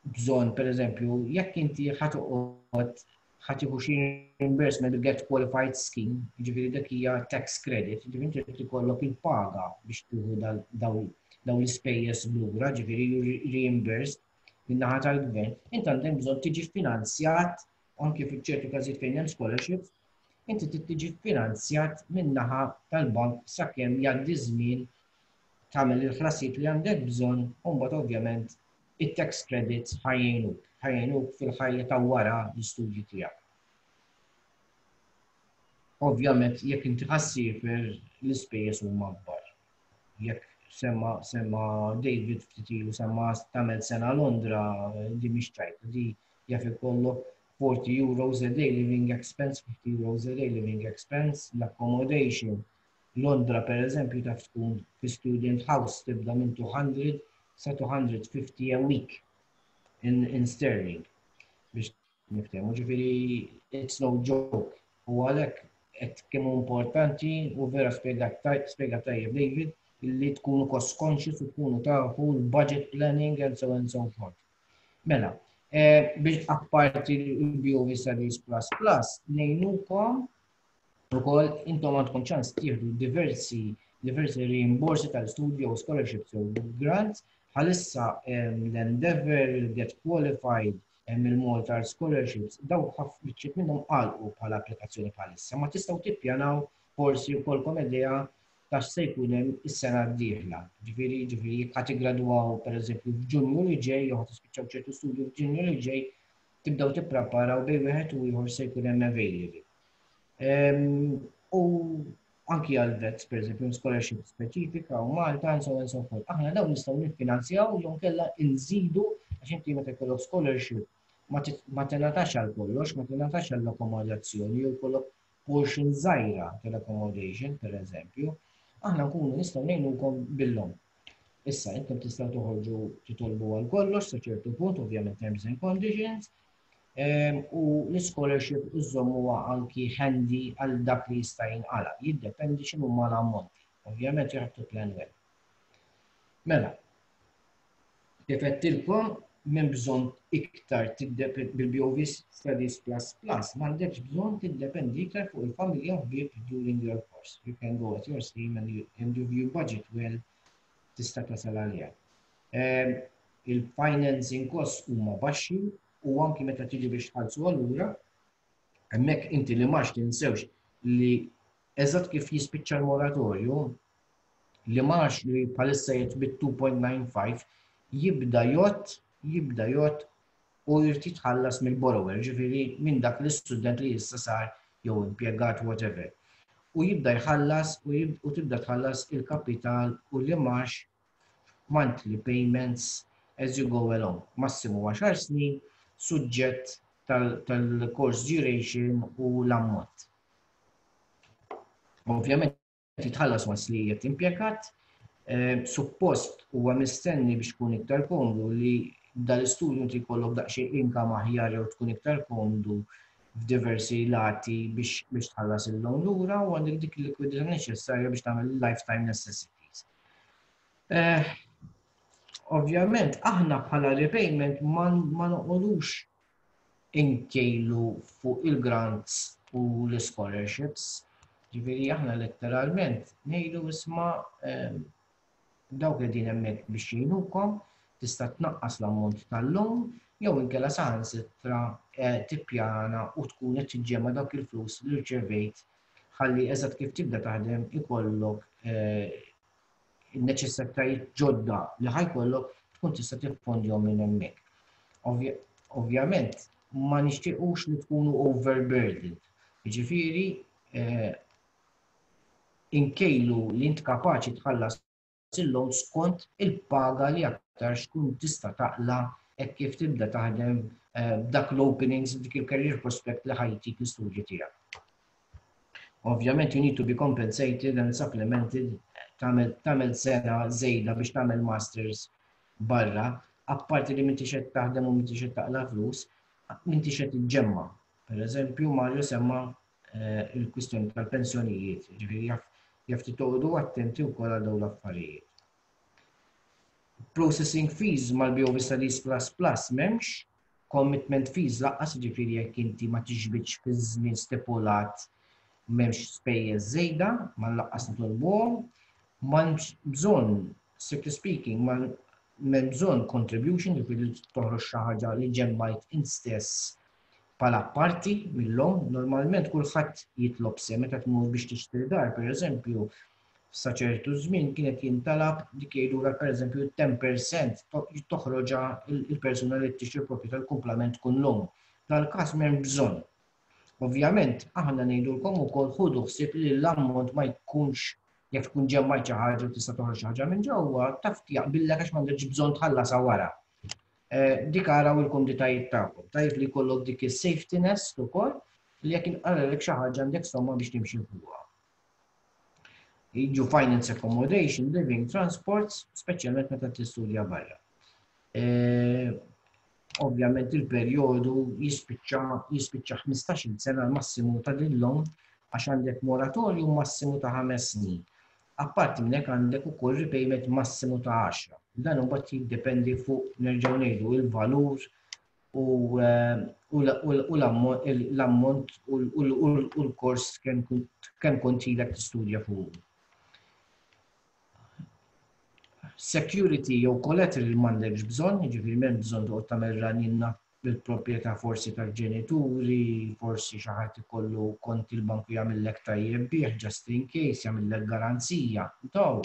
[SPEAKER 3] bżonn, pereżempju, jekk inti ħa toqgħod ħa tieħu xi reimbursement get qualified scheme, jiġifieri dak hija tax credit, jiġifieri inti trid ikollok il-paga biex tieħu dawn l-ispejjeż lura, ġifieri reimbursed min-naħa tal-gvern, inti għandek bżonn tiġi finanzjat anke fi ċertu każijiet fejn hemm scholarships, inti trid tiġi finanzjat min-naħa tal-bank sakemm jgħaddi żmien, tagħmel il-ħlasijiet li għandek bżonn, u mbagħad ovvjament it-tax credits ħa jgħinuk, ħa jgħinuk fil-ħajja ta' wara l-istudji tiegħek. Ovvjament jekk inti ħa ssiefer, l-ispejjeż huma kbar. Jekk semma semma David ftit ilu, semma tagħmel sena Londra, di mhix ċajta, di jaf ikollok forty euros a day living expense, fifty euros a day living expense, l-accommodation. Londra, per eżempju, taf tkun fi student house tibda minn two hundred sa two hundred fifty a week in, in sterling. Biex niftehmu, ġifieri it's no joke. U għalhekk qed kemm importanti u vera spjega tajjeb David illi tkunu cost conscious u tkunu tafu l-budget planning and so on and so forth. Mela, eh, biex apparti l-B O V Studies Plus Plus, ngħinukom ukoll, intom għandkom ċans tieħdu diversi diversi rimborsi tal-studio, scholarships u grants. Bħalissa l-Endeavour, il-Get Qualified, il-Malta Scholarships, daw ħafna minnhom għalqu bħala applikazzjoni bħalissa. Ma tistgħu tippjanaw forsi jkollkom idea ta' se jkun hemm is-sena d-dieħla. Ġifieri, ġifieri jekk ħa tiggradwaw pereżempju f'Ġunju li ġej, jew ħa tispiċċaw ċertu studju f'Ġunju li ġej, tibdew tippreparaw bejn wieħed u ieħor se jkun hemm available. U anki għal vets, per eżempju, scholarship speċifika u Malta, and so on and so forth. Aħna dawn nistgħu niffinanzjaw jew kella nżidu, għax inti meta jkollok scholarship ma tingħatax għal kollox, ma tingħatax għall akkomodazzjoni jew jkollok portion żgħira tal-accommodation, per eżempju, aħna nkunu nistgħu ngħinukom bil-loan. Issa, intom tistgħu toħorġu titolbu għal kollox sa ċertu punt, ovvjament terms and conditions, u l-scholarship iżommuha anki handy għal dak li jista' jinqala. Jiddependi x'inhu ma l-ammonti. Ovvjament you have to plan well. Mela, kif għedtilkom, m'hemm bżonn iktar bil-B O V Studies Plus Plus, m'għandekx bżonn tiddependi iktar fuq il-familja u ħbieb during your course. You can go at your steam and you, and you budget well, tista' tasal għalija. Il-financing costs huma baxxi u anki meta tiġi biex tħallsu allura, hemmhekk inti li max tinsewx li eżatt kif jispiċċa l-moratorju, li max li bħalissa jgħid bit-two point nine five jibda jgħodd jibda jgħodd u jrid jitħallas mill-borrower, ġifieri minn dak l-istudent li issa sar jew impjegat, whatever. U jibda jħallas u tibda tħallas il-kapital u l-imgħax monthly payments as you go along. Massimu għaxar snin, suġġett tal-course duration u l-ammont. Ovvjament jitħallas once li qed impjegat, eh, suppost huwa mistenni biex tkun iktar komdu li dal-istudju inti jkollok daqsxejn income aħjar jew tkun iktar komdu f'diversi lati biex biex tħallas il-loan lura u għandek dik il-likwidità neċessarja biex tagħmel lifetime necessities. Eh, ovvjament, aħna bħala repayment ma noqogħdux inkejlu fuq il-grants u l-scholarships. Ġifieri aħna letteralment ngħidu, isma', eh, dawk li din hemmhekk biex jgħinukom, tista' tnaqqas l-ammont tal-loan jew inkella saħansitra eh, tippjana u tkun qed tiġġema dawk il-flus li rċevejt ħalli eżatt kif tibda taħdem ikollok eh, il-neċessitajiet ġodda li ħa jkollok tkun tista' tiffondjhom minn hemmhekk. Ovvjament ma nixtiequx li tkunu overburdened. Jiġifieri eh, inkejlu li int kapaċi tħallas il-loan skont il-paga li aktar xkun tista' taqla hekk kif tibda taħdem, eh, dak l-openings, dik il-career prospect li ħa jtik l-istudju tiegħek. Ovvjament you need to be compensated and supplemented. Tagħmel sena żejda biex tagħmel masters barra, apparti li m'intix qed taħdem u m'intix qed taqla flus, m'intix qed iġġemma. Per eżempju, Mario semma eh, il-kwistjoni tal-pensjonijiet, ġifieri jaf jaf titoqgħodu attenti wkoll għal dawn l-affarijiet. Processing fees mal-B O V Studies Plus Plus m'hemmx, commitment fees lanqas, ġifieri jekk inti ma tiġbidx fi żmien stipulat m'hemmx spejjeż żejda, ma lanqas nitolbuhom, m'hemmx bżonn, strictly speaking, ma m'hemm bżonn contribution, ġifieri toħroġ xi ħaġa li ġemmajt int stess bħala parti mill-loan. Normalment kulħadd jitlob se meta tmur biex tixtri dar, per eżempju, sa ċertu żmien kienet jintalab dik jgħidulek, pereżempju, ten percent toħroġha il-persuna li tixtri proprjetà, l-kumplament tkun loan. Dal-każ m'hemm bżonn. Ovvjament, aħna ngħidulkom ukoll ħudu ħsieb li l-ammont ma jkunx, jekk tkun ġemmajt xi ħaġa u tista' toħroġ xi ħaġa minn ġewwa, taf jaqbillek għax m'għandekx bżonn tħallasha wara. Eh, dik araw il-kumditajiet tagħkom. Tajjeb li jkollok dik is-safety nest ukoll li jekk inqarrelek xi ħaġa għandek somma biex timxi fuqha. Jiġu finance accommodation, living, transports, speċjalment meta tistudja barra. Eh, ovvjament il-perjodu jispiċċa jispiċċa ħmistax-il sena l-massimu ta' din loan għax għandek moratorium massimu ta' ħames snin. Apparti minn hekk għandek ukoll repayment massimu ta' għaxra. Dan imbagħad jiddependi fuq, nerġgħu ngħidu, il-valur u eh, u l-ammont u l-kors kemm kont ilek tistudja fuq. Security jew collateral m'għandekx bżonn, jiġifieri m'hemm bżonn toqgħod tagħmel ranjinna bil-proprjetà forsi tal-ġenituri, forsi xi ħadd ikollu kont il-banku jagħmillek tajjeb bih just in case, jagħmillek garanzija. Taw,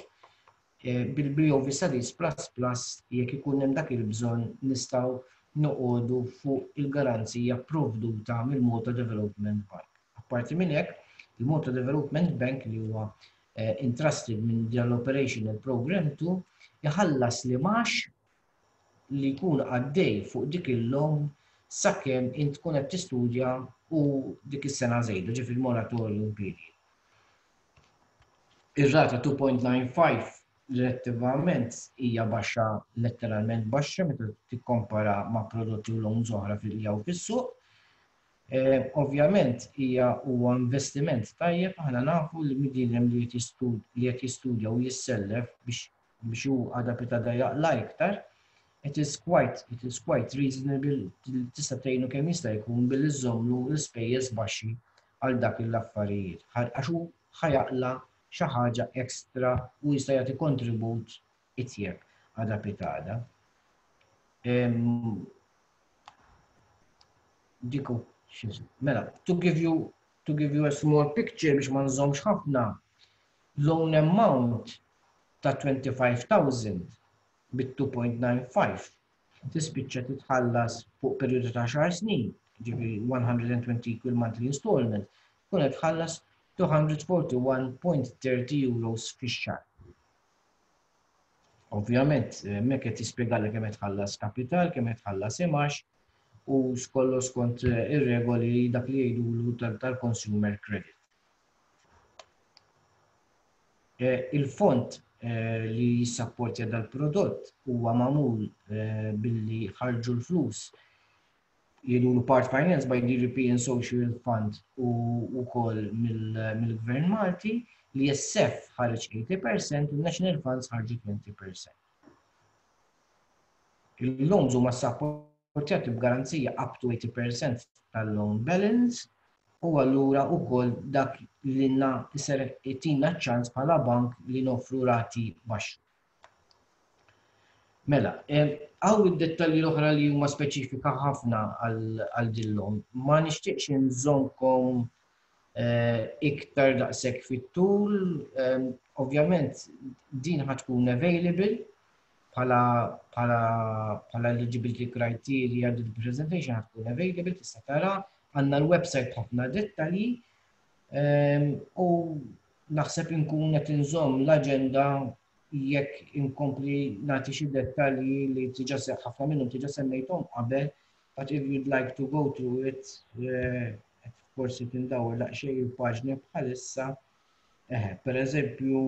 [SPEAKER 3] eh, bil-B O V Studies Plus Plus, jekk ikun hemm dak il-bżonn, nistgħu noqogħdu fuq il-garanzija provduta mill-Malta Development Bank. Apparti minn hekk, il-Malta Development Bank, li huwa eh, entrusted minn dal-Operational Program two, jħallas l-imgħax li jkun għaddej fuq dik il-loan sakemm int tkun qed tistudja u dik is-sena żejda, ġifieri moratorium period. Ir-rata two point nine five relattivament hija baxxa, letteralment baxxa meta tikkompara ma' prodotti u loans oħra fil fis-suq. Eh, ovvjament hija huwa investiment tajjeb. Aħna nafu li bniedem li qed jistudja u jissellef biex biex hu għada pitgħada jaqla' iktar, it is quite it is quite reasonable, tista' tgħinu kemm jista' jkun billi żżommlu l-ispejjeż baxxi għal dak l-affarijiet. Għax hu ħa jaqla' xi ħaġa ekstra u jista' jagħti kontribut itjeb għada pitgħada. Em, Diku, mela, to give you to give you a small picture biex ma nżommx ħafna, loan amount ta' twenty-five thousand bit-two point nine five tispiċċa titħallas fuq periodu ta' għaxar snin, ġifieri one hundred twenty equal monthly installment, tkun qed tħallas two hundred forty-one point three zero euros fix-xahar. Ovvjament, hemmhekk qed jispjegalek kemm qed tħallas kapital, kemm qed tħallas imgħax u kollu skont ir-regoli dak li jgħidulu tal-consumer credit. Eh, il-fond eh, li jissapportja dal-prodott huwa magħmul eh, billi ħarġu l-flus, jgħidulu part finance by the European Social Fund u wkoll mill-Gvern Malti, li E S F ħareġ eighty percent u National Funds ħarġu twenty percent. Il-loans huma supportjati b'garanzija up to eighty percent tal-loan balance u allura wkoll dak li na jser itina ċans bħala bank li noffru rati baxxi. Mela, hawn id-dettalji l-oħra li huma speċifika ħafna għal dil-loan. Ma nixtieqx nżommkom eh, iktar daqshekk fit-tul. Ovvjament din ħa tkun available bħala bħala bħala eligibility criteria, din presentation ħa tkun available, tista' tara, għandna l-website, ħafna dettalji u naħseb inkun qed inżomm l-aġenda jekk inkompli nagħti xi dettalji li diġà ħafna minnhom diġà semmejthom qabel, but if you'd like to go through it, eh, forsi tindawar daqsxejn il-paġni bħalissa. Eh, per eżempju,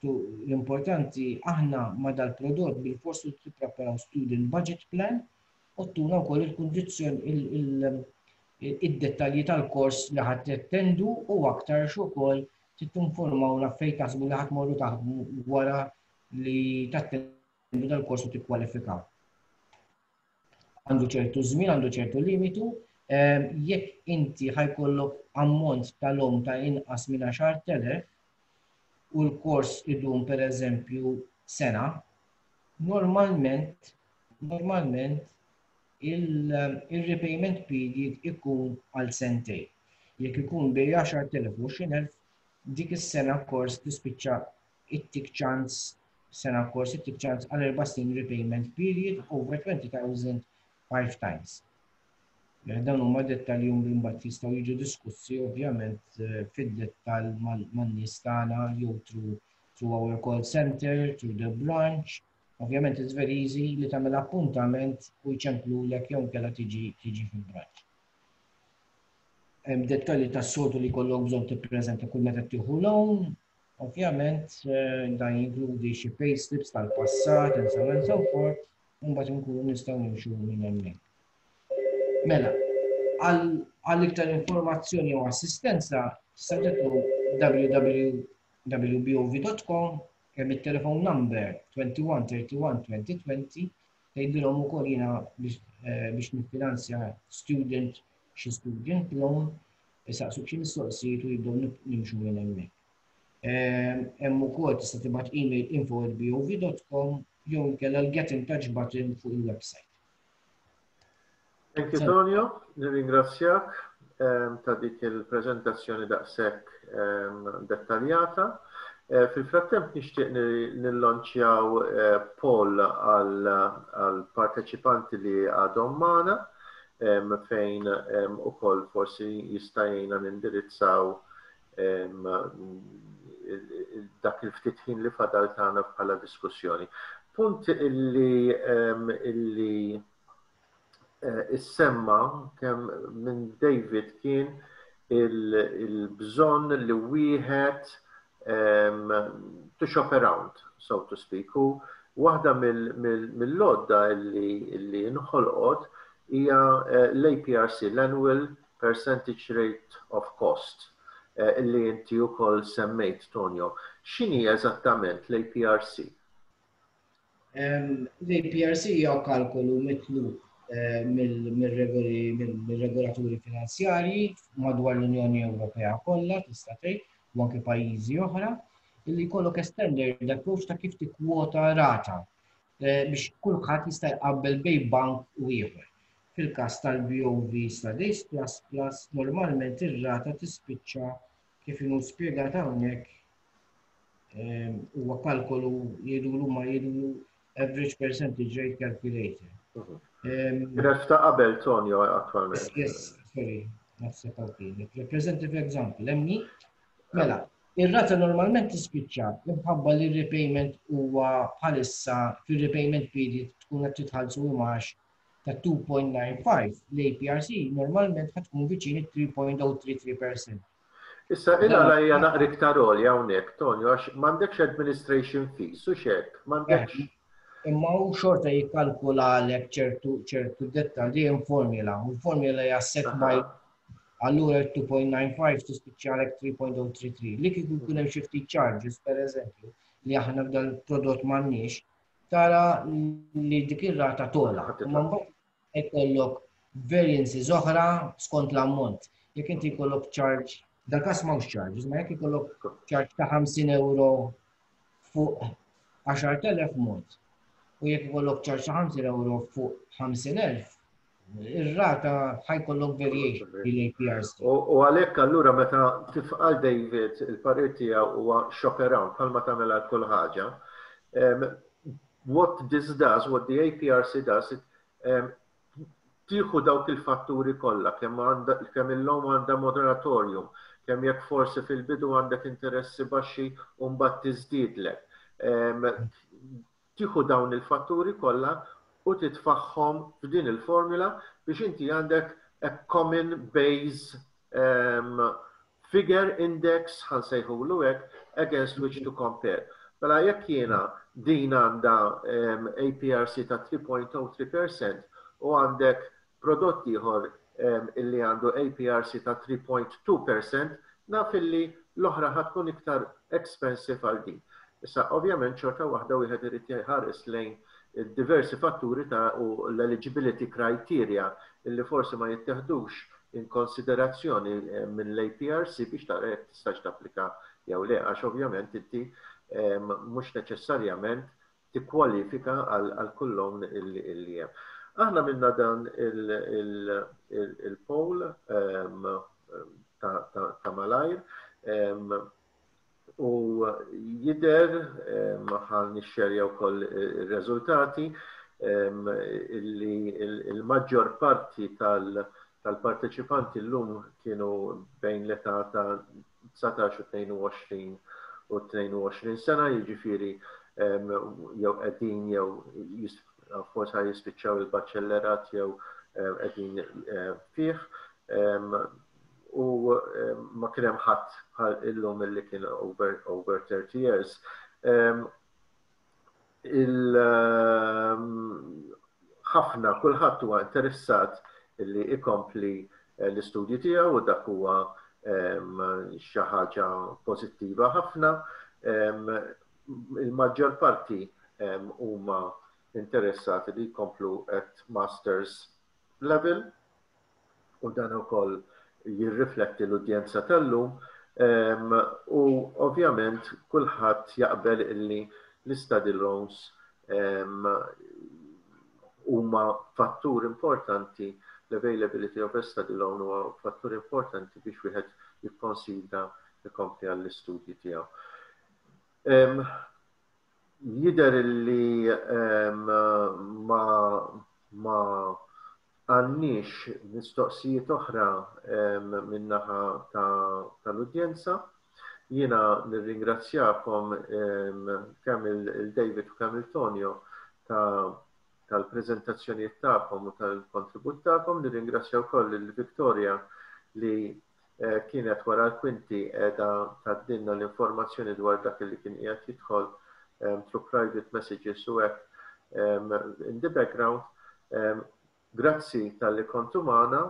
[SPEAKER 3] l-importanti, aħna ma dal-prodott bil-forsu tippreparaw student budget plan u tuna wkoll il-kundizzjoni, id-dettalji tal-kors li ħa tattendu u aktar ukoll tinformawna fejn taħsbu li ħa tmorru taħdmu wara li tattendu dal-kors u tikkwalifikaw. Għandu ċertu żmien, għandu ċertu limitu, ehm, jekk inti ħa jkollok ammont tal-loan ta' inqas minn għaxart elef u l-kors idum per eżempju sena, normalment, normalment il-repayment period ikun għal sentejn. Jekk ikun bejn għaxart elef u għoxrin elf, dik is-sena kors tispiċċa ittik ċans, sena kors ittik ċans għal erba' snin repayment period over twenty thousand five times. Dawn huma dettalji li mbagħad jistgħu jiġu diskussi ovvjament eh, fid-dettall man-nies tagħna jew through through our call center, through the branch. Ovvjament it's very easy li tagħmel appuntament u jċemplulek jew inkella tiġi tiġi fil-branch. Hemm dettalji tas-soltu li jkollok bżonn tippreżenta kull meta tieħu loan. Ovvjament eh, dan jinkludi xi payslips tal-passat and so on and so forth, u mbagħad inkunu nistgħu nimxu minn hemmhekk. Mela, għal iktar informazzjoni u assistenza tista' tidħlu w w w punt b o v punt com, hemm it-telephone number twenty-one thirty-one twenty twenty, tgħidilhom ukoll jiena biex eh, biex niffinanzja student xi student loan, isaqsuk xi mistoqsijiet u jibdew nimxu minn hemmhekk. Hemm ukoll tista' tibgħat email info at B O V dot com jew inkella l-get in touch button fuq il-website.
[SPEAKER 1] Thank you, Tonio. Nirringrazzjak ta' dik il-prezentazzjoni daqshekk dettaljata. Eh, fil-frattemp nixtieq nillonċjaw eh, poll għal parteċipanti li għadhom magħna, fejn ukoll forsi jista' jgħinna nindirizzaw dak il-ftit ħin li fadal tagħna bħala diskussjoni. Punt illi illi eh, issemma kemm minn David kien il-bżonn li wieħed to shop around, so to speak. U waħda mill-għodda illi nħolqot hija eh, l-A P R C, l-Annual Percentage Rate of Cost, eh, illi inti ukoll semmejt, Tonio. X'inhi eżattament l-A P R C?
[SPEAKER 3] L-A P R C hija kalkolu mitlub eh, mill-regoli, mill-regolaturi finanzjarji madwar l-Unjoni Ewropea kollha, tista' tgħid, u anke pajjiżi oħra, illi jkollok standard approach ta' kif tikkwota rata eh, biex kulħadd jista' jqabbel bejn bank u ieħor. Fil-każ tal-B O V Studies Plus Plus, normalment ir-rata tispiċċa kif inhu spjegat hawnhekk. eh, huwa kalkolu jgħidulu ma jgħidulu average percentage rate calculator.
[SPEAKER 1] Kienet ta' qabel, Tonio, attualment.
[SPEAKER 3] Yes, sorry, naħseb hawn. Representative example, emni. Mela, ir-rata normalment tispiċċa imħabba li repayment huwa bħalissa fil-repayment period tkun qed titħallsu imgħax ta' two point nine five, l-A P R C normalment ħa tkun viċin three point zero three three percent.
[SPEAKER 1] Issa, illa la hija naqra iktar għolja hawnhekk, Tonio, għax m'għandekx administration fees, u xek, m'għandekx.
[SPEAKER 3] Imma u xorta jikkalkulalek ċertu ċertu dettalji in formula. U l-formula hija set by, allura two point nine five tispiċċalek three point zero three three. Li kieku jkun hemm xi ftit charges, per eżempju, li aħna f'dal prodott m'għandniex, tara li dik ir-rata togħla. Imma mbagħad ikollok variances oħra skont l-ammont. Jekk inti jkollok charge, dal-każ m'hawnx charges, ma jekk ikollok charge ta' ħamsin euro fuq għaxart elef mod, u jekk ikollok charge ta' ħamsin euro fuq ħamsin elf, ir-rata ħa jkollok variation bil-A P R C.
[SPEAKER 1] U għalhekk allura meta tifqal David, il-parir tiegħu huwa shop around, bħalma tagħmel għal kull ħaġa. What this does, what the A P R C does, it, um, tieħu dawk il-fatturi kollha, kemm kemm illum għandha moratorium, kemm jekk forsi fil-bidu għandek interessi baxxi u mbagħad tiżdiedlek. Tieħu dawn il-fatturi kollha u titfagħhom f'din il-formula biex inti għandek a common base um, figure, index, ħa nsejħulu hekk, against which to compare. Mela jekk jiena din għandha um, A P R C ta' three point zero three percent u għandek prodott ieħor um, illi għandu A P R C ta' three point two percent, naf illi l-oħra ħa tkun iktar expensive għal din. Issa, ovvjament, xorta waħda wieħed irid jħares lejn diversi fatturi ta' u l-eligibility criteria illi forsi ma jitteħdux in konsiderazzjoni eh, minn l-A P R C biex tara jekk tistax tapplika jew le, għax ovvjament inti mhux neċessarjament tikkwalifika għal kull loan illi hemm. Aħna minna dan il-poll ta' malajr u jidher, ħa nixxerja wkoll ir-riżultati, illi il-maġġor parti tal-parteċipanti llum kienu bejn l-età ta' dsatax u tnejn u għoxrin u tnejn u għoxrin sena, jiġifieri jew qegħdin jew forsi jispiċċaw il-baċellerat jew qegħdin fih, u ma kien hemm ħadd bħal illum illi kien over, over thirty years. Il ħafna, kulħadd huwa interessat illi ikompli eh, l-istudji tiegħu u dak huwa xi ħaġa pożittiva ħafna. Il-maġġor parti huma interessati li jkomplu at masters level u dan ukoll jirrifletti l-udjenza tal-lum. U ovvjament kulħadd jaqbel illi l-study loans huma fattur importanti, l-availability of a study loan huwa fattur importanti biex wieħed jikkonsidra jkompli għall-istudji tiegħu. Jidher li ma ma għandniex mistoqsijiet oħra min-naħa tal-udjenza. Jiena nirringrazzjakom kemm il-David u kemm il-Tonio tal-prezentazzjonijiet tagħkom u tal-kontribut tagħkom. Nirringrazzja wkoll il-Victoria li eh, kienet wara l-kwinti qiegħda tgħaddilna l-informazzjoni dwar dak li kien qiegħed jidħol through private messages u hekk in the background. Grazzi talli kontu magħna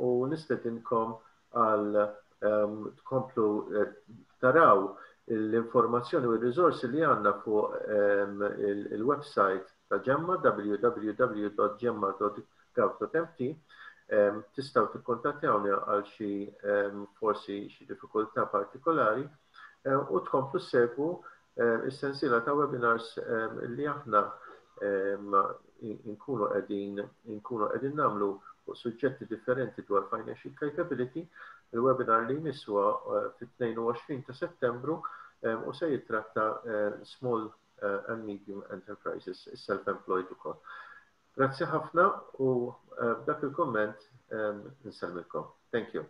[SPEAKER 1] u nistedinkom għal tkomplu eh, taraw l-informazzjoni u r-riżorsi li għandna fuq il-website ta' Ġemma, W W W punt gemma punt gov punt M T. Tistgħu tikkontattjawni għal xi forsi xi diffikultà partikolari u tkomplu segwu is-sensiela ta' webinars li aħna inkunu qegħdin inkunu qegħdin nagħmlu fuq suġġetti differenti dwar financial capability. Il-webinar li jmiss huwa eh, fit-tnejn u għoxrin ta' Settembru u se jitratta eh, small eh, and medium enterprises, self-employed ukoll. Grazzi ħafna u b'dak il-komment nsellmilkom. Thank you.